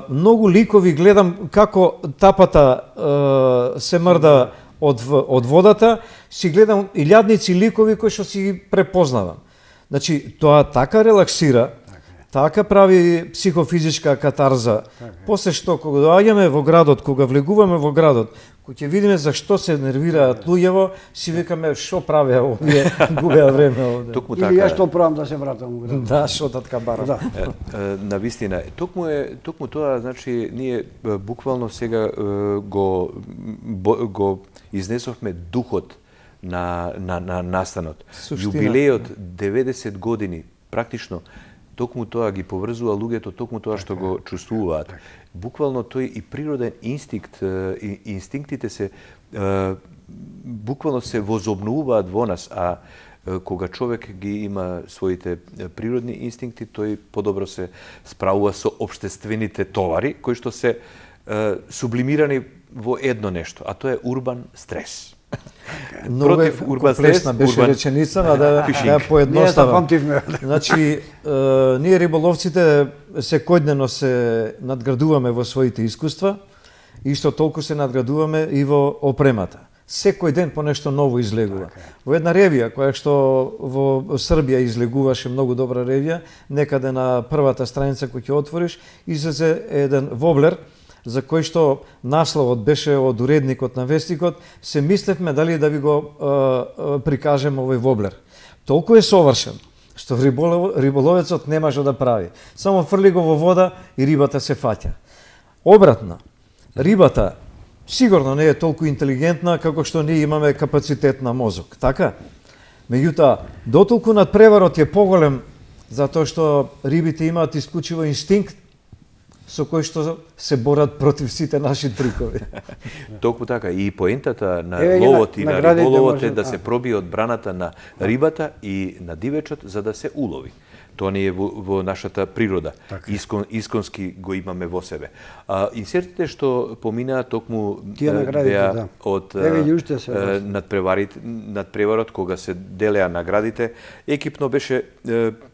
многу ликови гледам како тапата се мрда од водата, си гледам илјадници ликови кои што си ги препознавам. Значи тоа така релаксира, така прави психофизичка катарза. После што кога доаѓаме во градот, кога влегуваме во градот, кога ќе видиме зашто се нервираат луѓево, си викаме што правеа овие, губеа време овде.
Или ја што правам да се вратам во градот.
Да, што така бара.
Да.
Навистина, токму тоа, значи, ние буквално сега го изнесовме духот на настанот. Јубилејот 90 години, практично, токму тоа ги поврзува луѓето, токму тоа што го чувствуваат. Буквално тој и природен инстинктите се буквално се возобновуваат во нас, а кога човек ги има своите природни инстинкти, тој подобро се справува со општествените товари кои што се сублимирани во едно нешто, а тоа е урбан стрес.
Против урбан стрес беше реченицата, да ја поедноставам. Значи, ние риболовците секојдневно се надградуваме во своите искуства, и што толку се надградуваме и во опремата. Секој ден по нешто ново излегува. Во една ревија, која што во Србија излегуваше многу добра ревија, некаде на првата страница која ќе отвориш, излезе еден воблер, за кој што насловот беше од уредникот на Вестникот, се мислевме дали да ви го прикажем овој воблер. Толку е совршен, што риболовецот не може да прави. Само фрли го во вода и рибата се фаќа. Обратно, рибата сигурно не е толку интелигентна како што ние имаме капацитет на мозок, така? Меѓутоа, дотолку надпреварот е поголем затоа што рибите имаат исклучиво инстинкт со кој што се борат против сите наши трикови.
Токму така, и поентата на ловот и на риболовот е да се пробие одбраната на рибата и на дивечот за да се улови. Тоа не е во нашата природа. Исконски го имаме во себе. Инсертите што поминаа токму беа од надпреварот кога се делеа наградите. Екипно беше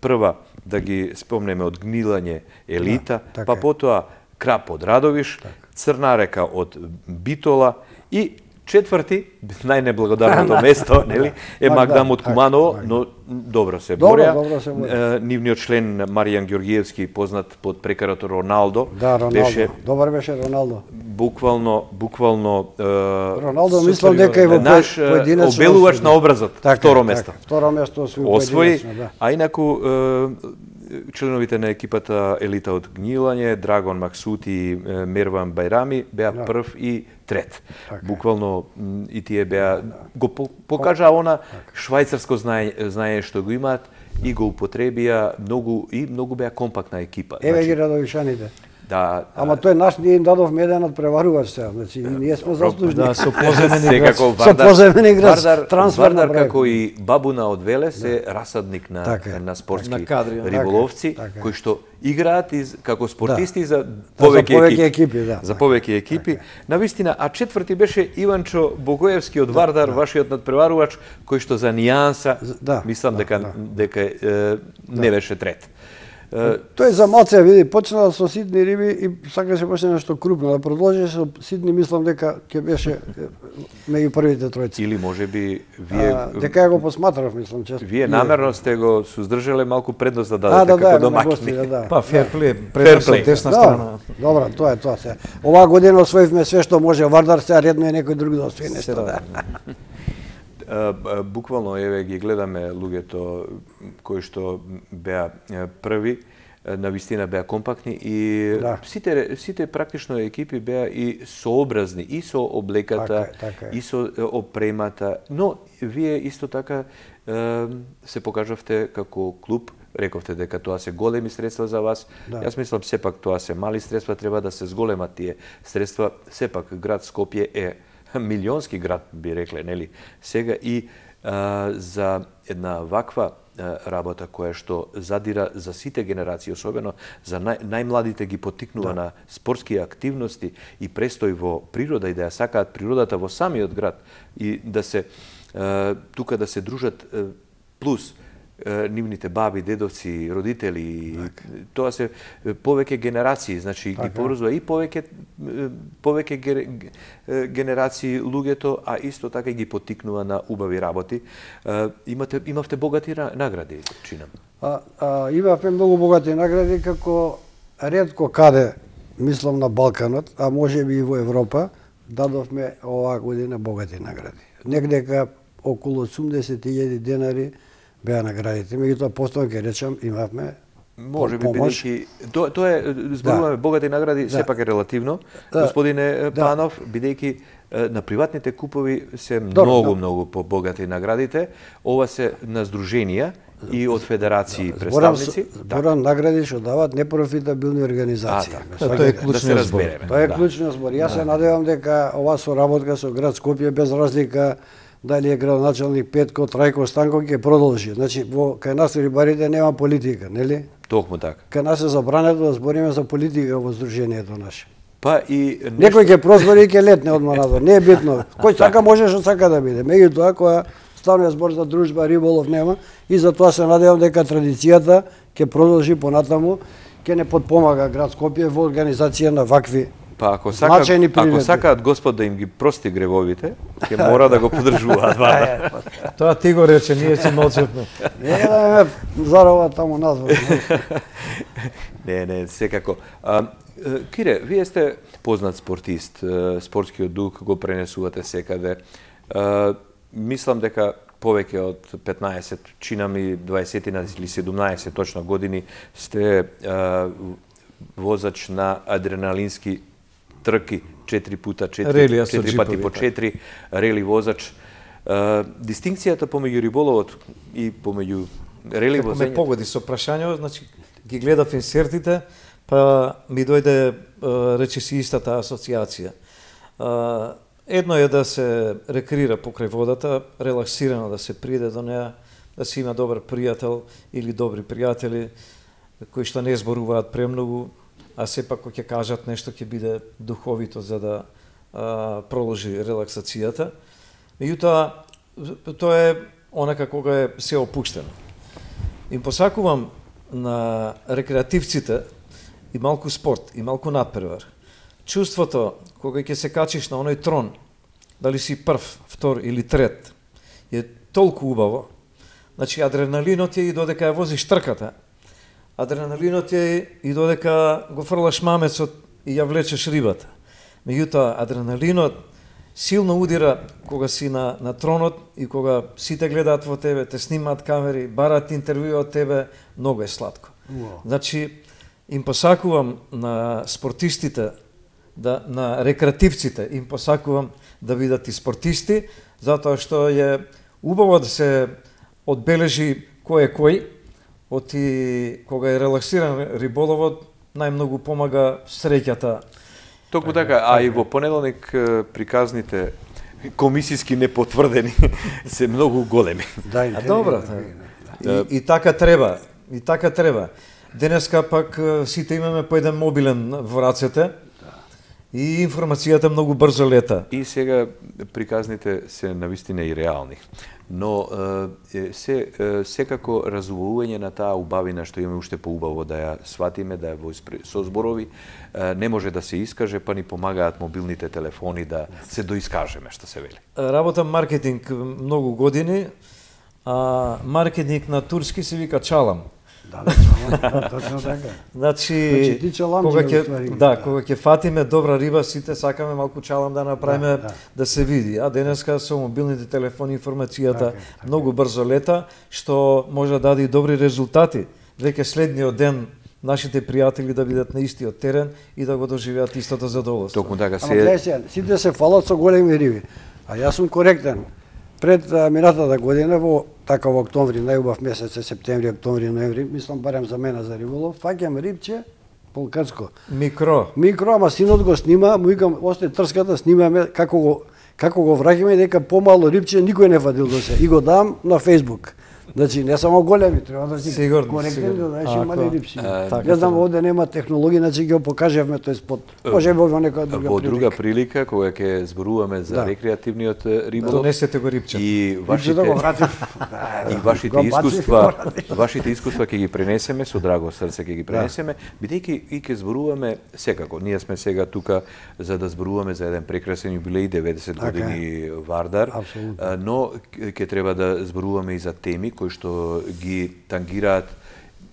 прва да ги спомнеме од Гнилање Елита, па потоа Крап од Радовиш, Црна река од Битола и четврти, најнеблагодарното место, нели, е Магдам од Куманово, но добро се борја. Нивниот член Маријан Ѓоргиевски, познат под прекарото Роналдо, беше
добар беше Роналдо.
Буквално
Роналдо мислам дека е во поединечно
обелувач на образот, второ место.
Второ место
освои, а инаку членовите на екипата Елита од Гнилање, Драгон Максути и Мерван Бајрами беа прв и трет. Буквално и тие беа го покажа она швајцарско знаење што го имаат и го употребија многу беа компактна екипа.
Еве ги радовишаните.
Да.
Ама тој наш ние им дадовме еден надпреварувач сега, значи ние сме заслужни.
Да, со поземени играч.
Со поземени играч.
Вардар како и Бабуна од Велес е расадник на спортски риболовци кои што играат како спортисти за повеќе екипи. За повеќе екипи. Навистина, а четврти беше Иванчо Богоевски од Вардар, вашиот надпреварувач, кој што за нијанса, мислам дека не беше трет.
Тој за маце, види, почнал со ситни риби и сакаше беше нешто крупно, да продолжи со ситни, мислам дека ќе беше меѓу првите тројци.
Или можеби вие
дека ја го посматрав, мислам често.
Вие намерно сте го суздржале малку предност да дадете како домаќини.
Па ферплей, предност од десна страна.
Добро, тоа е тоа се. Оваа година освоивме све што може Вардар, сега редно е некој друг да освои нешто.
Буквално еве ги гледаме луѓето кои што беа први, навистина беа компактни и сите практично екипи беа и сообразни и со облеката и со опремата, но вие исто така се покажавте како клуб. Рековте дека тоа се големи средства за вас. Јас мислам сепак тоа се мали средства, треба да се зголемат тие средства. Сепак град Скопје е милионски град, би рекле, нели? Сега и за една ваква работа која што задира за сите генерации, особено за најмладите ги поттикнува на спортски активности и престој во природа и да ја сакаат природата во самиот град и да се тука да се дружат плюс нивните баби, дедовци, родители, тоа се повеќе генерации, значи ги поврзува и повеќе генерации луѓето, а исто така ги поттикнува на убави работи. Имавте богати награди, чинам.
Имавме многу богати награди, како ретко каде, мислам на Балканот, а може би и во Европа, дадовме оваа година богати награди. Негдека околу 80.000 денари беа наградите. Меѓутоа, постојано ќе речам, имавме
може би бидејќи тоа е зборуваме богати награди, сепак е релативно. Господине Панов, бидејќи на приватните купови се многу побогати наградите, ова се на здруженија и од федерации представници.
Зборам награди што дават непрофитабилни организации.
Тоа е клучниот збор.
Тоа е клучниот збор. Јас се надевам дека оваа соработка со град Скопје, без разлика дали е градоначалник Петко, Трајко, Станко, ќе продолжи. Значи, кај нас рибарите нема политика, нели?
Токму така.
Кај нас е забрането да збориме за политика во здружението наше.
Па и
некој ќе прозбори и ќе летне одма надвор, не е битно. Кој сака може што сака да биде. Меѓутоа, кога станува збор за дружба, риболов нема, и затоа се надевам дека традицијата ќе продолжи понатаму, ќе не подпомага град Скопје во организација на вакви.
Па ако сакаат Господ да им ги прости гревовите, ќе мора да го поддржуваат Вардар.
Тоа ти го рече, ние си молчевме.
Не да ме зарова таму надвор.
Не, секако. Кире, вие сте познат спортист, спортскиот дух го пренесувате секаде. Мислам дека повеќе од 15, чинам и 20 или 17 точно години сте возач на адреналински трки 4 пати по 4, рели возач. Дистинкцијата помеѓу риболовот и помеѓу рели возење.
Како ме погоди со прашањето, значи ги гледав инсертите, па ми дојде речиси истата асоциација. Едно е да се рекреира покрај водата, релаксирано да се приде до неа, да се има добар пријател или добри пријатели кои што не зборуваат премногу, а сепак кога ќе кажат нешто ќе биде духовито за да проложи релаксацијата. Меѓутоа, тоа е онака кога е се опуштено. Им посакувам на рекреативците и малку спорт, и малку надпревар. Чувството кога ќе се качиш на оној трон, дали си прв, втор или трет, е толку убаво. Значи, адреналинот е и додека ја возиш трката, адреналинот е и додека го фрлаш мамецот и ја влечеш рибата. Меѓутоа, адреналинот силно удира кога си на тронот и кога сите гледаат во тебе, те снимаат камери, бараат интервју од тебе, многу е сладко. Значи, им посакувам на спортистите, на рекреативците, им посакувам да бидат и спортисти, затоа што е убаво да се одбележи кој е кој, оти кога е релаксиран риболовот, најмногу помага среќата.
Токму така, а и во понеделник приказните комисиски непотврдени се многу големи.
Добро. И така треба, и така треба. Денеска пак сите имаме по еден мобилен во рацете и информацијата многу брзо лета.
И сега приказните се навистина и реални. Но секако разувување на таа убавина што имаме уште поубаво да ја сватиме, да ја со зборови, не може да се искаже, па ни помагаат мобилните телефони да се доискажеме, што се вели.
Работам маркетинг многу години, а маркетинг на турски се вика чалам.
Точно така.
Значи, кога ќе фатиме добра риба, сите сакаме малку чалам да направиме да се види. А денеска со мобилните телефони информацијата многу брзо лета, што може да даде и добри резултати. Веќе следниот ден нашите пријатели да бидат на истиот терен и да го доживеат истото задоволство.
Токму така
сите се фалат со големи риби. А јас сум коректен. Пред минатата година во октомври, најубав месец е септември, октомври, ноември, мислам барем за мене за риболов, фаќам рибче полкрцко. Микро, ама синот го снима, му викам, осте трската, снимаме како го враќаме дека помало рибче никој не фатил до се. И го дам на Facebook. Значи не само големи, треба да си коректен, да знаеш мали рибси. Не знам, овде нема технологија, значи ги покажавме тој спот. Може би во некоја друга прилика.
Во друга прилика, кога ќе зборуваме за рекреативниот риболов.
Донесете го рибче.
И вашите искуства ќе ги пренесеме со драго срце ќе ги пренесеме, бидејќи и ќе зборуваме секако. Ние сме сега тука за да зборуваме за еден прекрасен јубилеј 90 години Вардар, но ќе треба да зборуваме и за теми кои што ги тангираат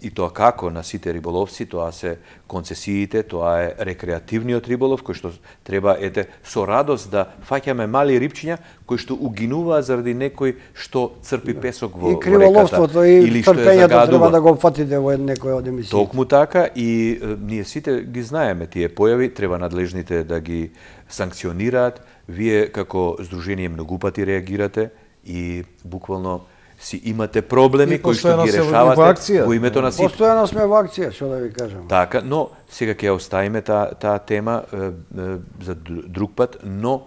и тоа како на сите риболовци, тоа се концесиите, тоа е рекреативниот риболов, кој што треба со радост да фаќаме мали рибчиња кои што угинуваат заради некој што црпи песок во реката.
И криволовството и трпењето треба да го фатите во некој од емисиите.
Токму така и ние сите ги знаеме тие појави, треба надлежните да ги санкционираат. Вие како здружение многу пати реагирате и буквално си имате проблеми кои што ги решавате во името на сите.
Постојано сме во акција, што да ви кажам.
Така, но сега ќе оставиме таа тема за друг пат, но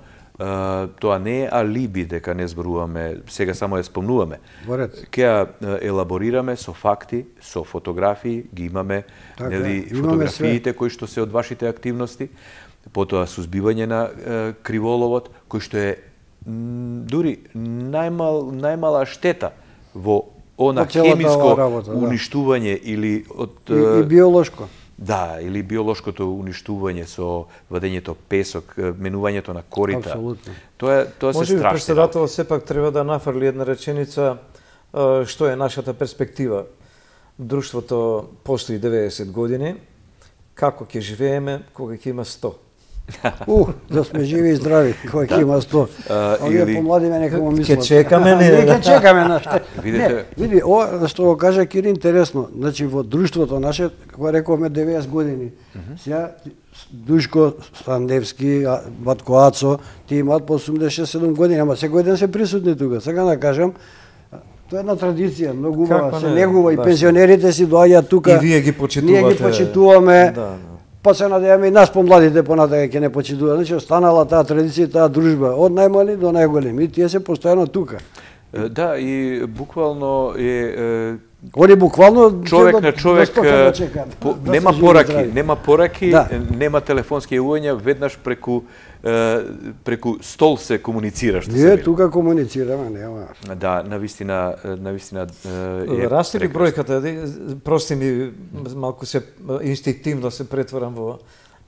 тоа не е алиби дека не зборуваме, сега само ја спомнуваме. Ќе ја елаборираме со факти, со фотографии, ги имаме, нели, фотографиите кои што се од вашите активности, потоа сузбивање на криволовот, кој што е дури најмала штета во она хемиско уништување или од
и биолошко.
Да, или биолошкото уништување со вадењето песок, менувањето на корита.
Апсолутно.
Тоа се страшно.
Може би претседател сепак треба да нафрли една реченица што е нашата перспектива. Друштвото постои 90 години, како ќе живееме кога ќе има 100?
Да сме живи и здрави, кој ќе има 100. Овие помладиме некако мислат.
Ќе чекаме, не.
Ќе чекаме наште.
Видите,
види, ова што го кажа Кир интересно. Значи во друштвото наше, кога рековме 90 години, сега Душко Сандевски, Батко Ацо, тие имаат по 86-7 години, ама секој ден се присутни тука. Сега да кажам, тоа е една традиција, многу убава, се негува и пензионерите си доаѓаат тука.
И вие ги почитувате.
Ние ги почитуваме. Па се надеваме и нас помладите понатака ќе не почитуваат. Значи останала таа традиција, таа дружба од најмали до најголеми. И тие се постојано тука.
Да, и буквално е
Они буквално
човек на човек нема пораки, нема телефонски јавувања, веднаш преку стол се комуницира, што се
вели. Ние тука комуницираме, нема.
Да, навистина
расте ли бројката, прости ми, малку се инстинктивно се претворам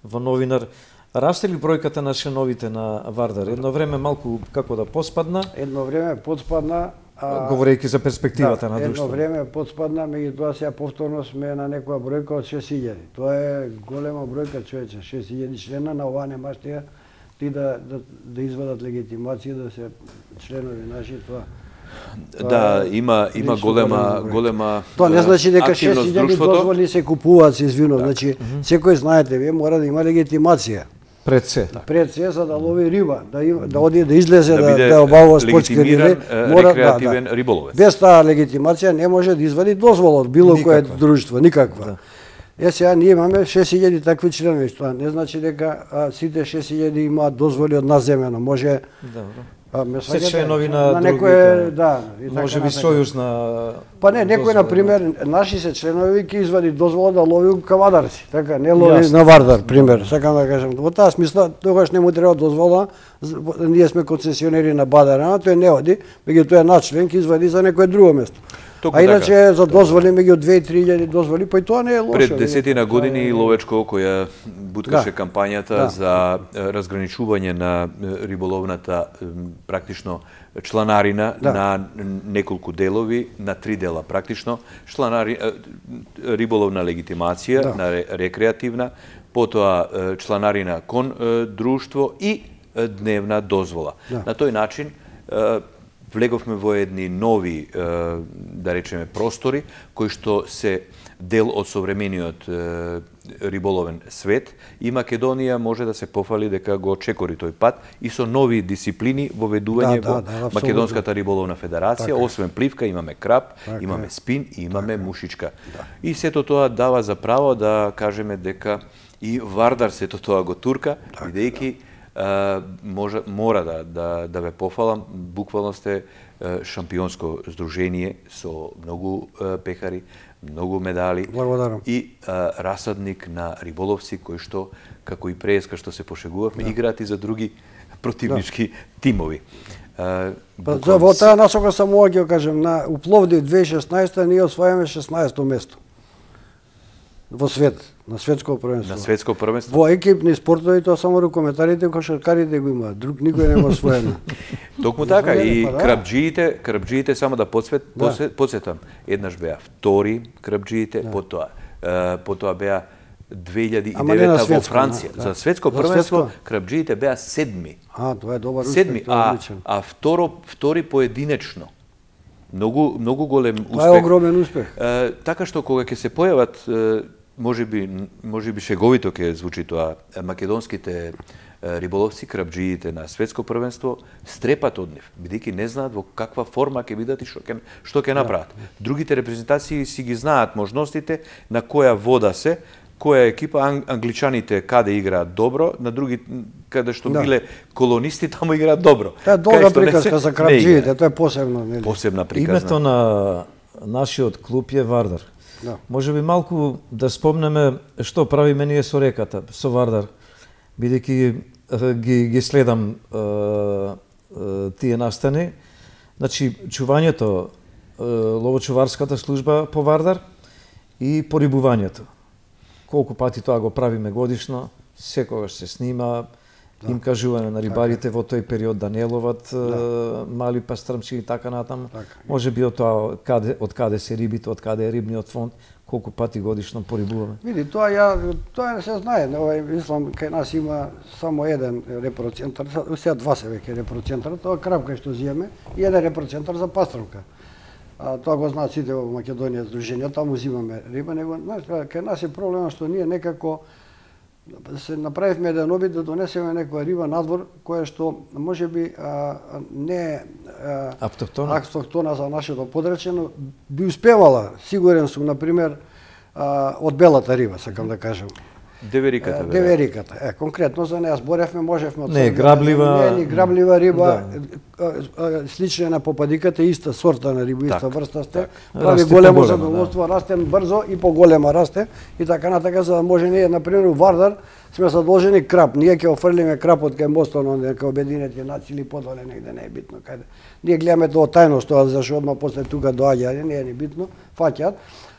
во новинар. Расте ли бројката на членовите на Вардар? Едно време малку како да поспадна?
Едно време поспадна.
Говорејќи за перспективата на друштвото.
Едно време подспадна, меѓутоа сега повторно сме на некоја бројка од 6000. Тоа е голема бројка, човече, 6000 члена, на ова немаш ти да извадат легитимација да се членови наши, тоа.
Да, има голема
тоа не значи дека 6000 дозволи се купуваат, се извинувам, значи секој знаете, вие мора да има легитимација.
Пред се.
Пред се за да лови риба, да оди да излезе да обавува спортски риби,
мора рекреативен риболовец.
Без таа легитимација не може да извади дозвола од било кое друштво, никаква. Сега ние имаме 6000 такви членови, тоа не значи дека сите 6000 имаат дозволи од наземено, може
се членови на
некој, да,
може би сојуз на
па не, некој на пример наши се членови ќе извади дозвола да лови кавадарци, така, не лови на Вардар, пример, сакам да кажам. Во таа смисла тогаш не му треба дозвола, ние сме концесионери на Бадарана, тој не оди, меѓутоа начлен ќе извади за некое друго место. А иначе за дозволи меѓу 2-3 дозволи, па и тоа не е лошо.
Пред 10 години Ловечко која буткаше кампањата за разграничување на риболовната практично чланарина на неколку делови, на 3 дела практично, риболовна легитимација, на рекреативна, потоа чланарина кон друштво и дневна дозвола. На тој начин влеговме во едни нови, да речеме, простори, кои што се дел од современиот риболовен свет, и Македонија може да се пофали дека го чекори тој пат и со нови дисциплини воведување во Македонската риболовна федерација. Освен пливка имаме краб, имаме спин и имаме мушичка. И сето тоа дава за право да кажеме дека и Вардар сето тоа го турка, бидејќи мора да ве пофалам, буквално сте шампионско здружение со многу пехари, многу медали.
Благодарам.
И расадник на риболовци кои што, како и преска што се пошегувавме, играат и за други противнички тимови.
Во таа насока само ќе кажем, у Пловдив 2016 ние освојаме 16-то место во свет, на светско првенство.
На светско првенство?
Во екипни спортови тоа само рукометарите, кошаркарите го имаат, друг никој нема освоено.
Токму така и крапџиите само да подсетам, еднаш беа втори крапџиите, потоа беа 2009 во Франција. За светско првенство крапџиите беа седми.
Тоа е добар успех,
а втори поединечно. Многу голем успех.
Тоа е огромен успех.
Така што кога ќе се појават, можеби шеговито ќе звучи тоа, македонските риболовци, крапџиите на светско првенство, стрепат од нив, бидејќи не знаат во каква форма ќе бидат и што ќе направат. Другите репрезентации си ги знаат можностите, на која вода се, која екипа, англичаните каде играат добро, на други каде што биле колонисти таму играат добро.
Тоа е долга приказка за крапџиите, тоа е посебно, нели?
Посебна приказна.
Името на нашиот клуб е Вардар. Може би малку да спомнеме што правиме ние со реката, со Вардар, бидејќи ги следам тие настани. Значи, чувањето, ловочуварската служба по Вардар и порибувањето. Колку пати тоа го правиме годишно, секогаш се снима, им кажуваме на рибарите во тој период да не ловат мали пастрмци и така натаму. Може би од тоа од каде се рибите, од каде е рибниот фонд, колку пати годишно порибуваме.
Види, тоа не се знае, мислам кај нас има само еден репроцентар, сега два се веќе репроцентар, тоа крапка што зиеме и еден репроцентар за пастрмка. Тоа го знаат сите во Македонија здруженија, таму зимаме риба, него кај нас е проблемот што ние некако се направивме еден обид да донесеме некоја риба надвор која што можеби не е автохтона за нашето подречје, но би успевала, сигурен сум, например, од белата риба, сакам да кажам.
Девериката.
Девериката. Конкретно за неа зборевме, можевме од
не
граблива риба, слична на попадиката, иста сорта на риба, иста врста сте. Прави големо задоволство, расте брзо и поголема расте и така натака, за да може ние, например, у Вардар сме задолжени крап. Ние ќе офрлиме крапот кај мостот на Обединетите нации или подоле негде, не е битно каде. Ние гледаме тоа тајност, тоа зашто одма после тука доаѓа, не е ни битно, фаќаат.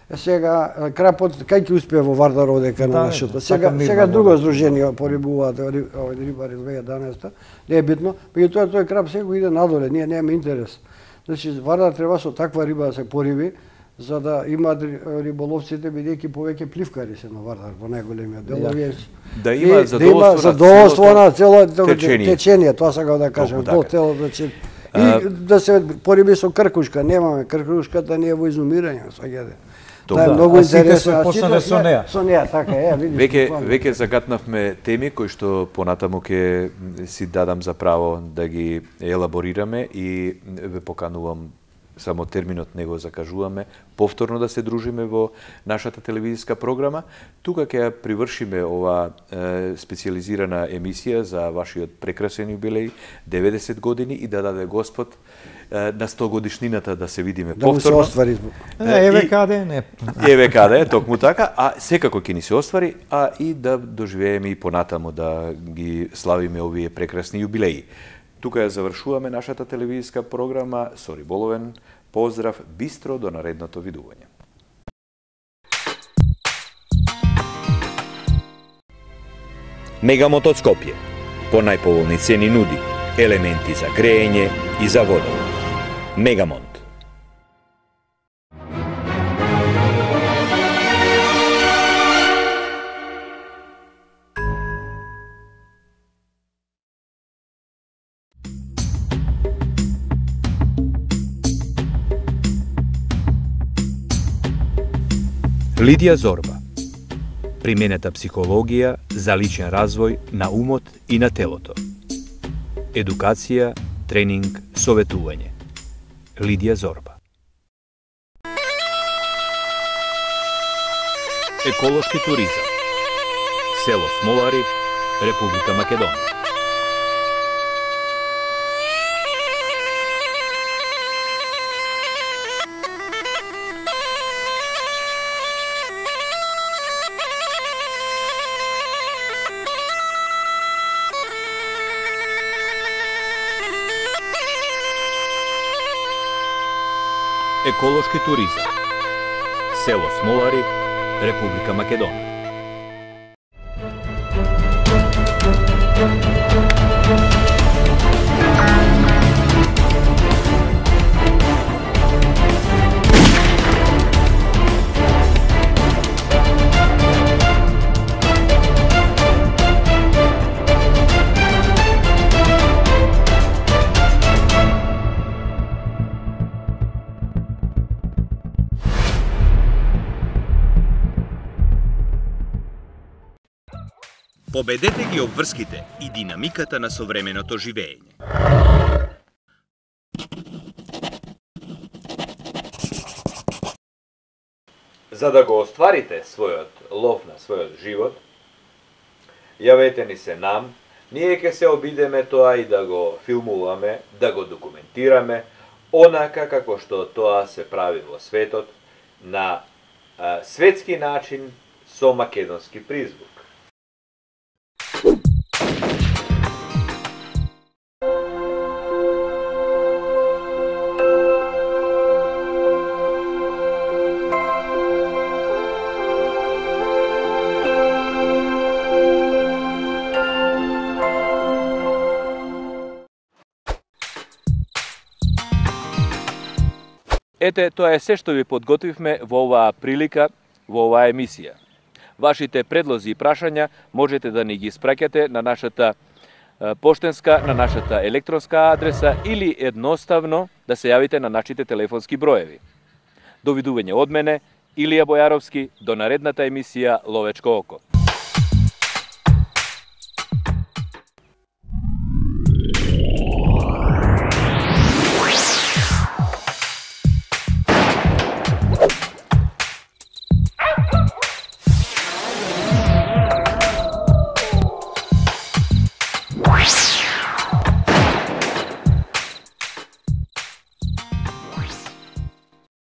Сега крапот кај ќе успее во Вардар одека на нашето. Сега друго здружение порибуваат рибари 2011, не е битно, меѓутоа тој крап сега иде надоле, ние немаме интерес. Значи Вардар треба со таква риба да се пориби, за да имаат риболовците, бидејќи повеќе пливкари се на Вардар во најголемиот дел.
Да има
задоволство на цело течение, тоа сакам да кажам, цело значи и да се пориби со кркушка, немаме кркушката, не е во изумирање, сваѓате. Тоа е многу интересно. Со неа, така е, видиш.
Веќе загатнавме теми кои што понатаму ќе си дадам за право да ги елаборираме и ве поканувам, само терминот не го закажуваме, повторно да се дружиме во нашата телевизиска програма. Тука ќе привршиме ова специализирана емисија за вашиот прекрасен юбилеј, 90 години, и да даде Господ на 100 годишнината да се видиме повторно.
Да му се оствари.
Еве каде, не.
Еве каде, токму така, а секако ќе ни се оствари, а и да доживееме и понатаму да ги славиме овие прекрасни юбилеи. Тука ја завршуваме нашата телевизиска програма со риболовен поздрав, бистро до наредното видување.
Мегамот од Скопје, по најповолни цени нуди елементи за греење и за водовод. Мегамонт.
Лидија Зорба. Применета психологија за личен развој на умот и на телото. Едукација, тренинг, советување. Лидија Зорба. Еколошки туризам. Село Смолари, Република Македонија.
Еколошки туризам. Село Смолари, Република Македонија.
Победете ги обврските и динамиката на современото живење.
За да го остварите својот лов на својот живот, јавете ни се нам, ние ќе се обидеме тоа и да го филмуваме, да го документираме, онака како што тоа се прави во светот, на светски начин со македонски призвук.
Ете, тоа е се што ви подготвивме во оваа прилика, во оваа емисија. Вашите предлози и прашања можете да ни ги испраќате на нашата поштенска, на нашата електронска адреса или едноставно да се јавите на нашите телефонски броеви. Довидување од мене, Илија Бојаровски, до наредната емисија Ловечко око.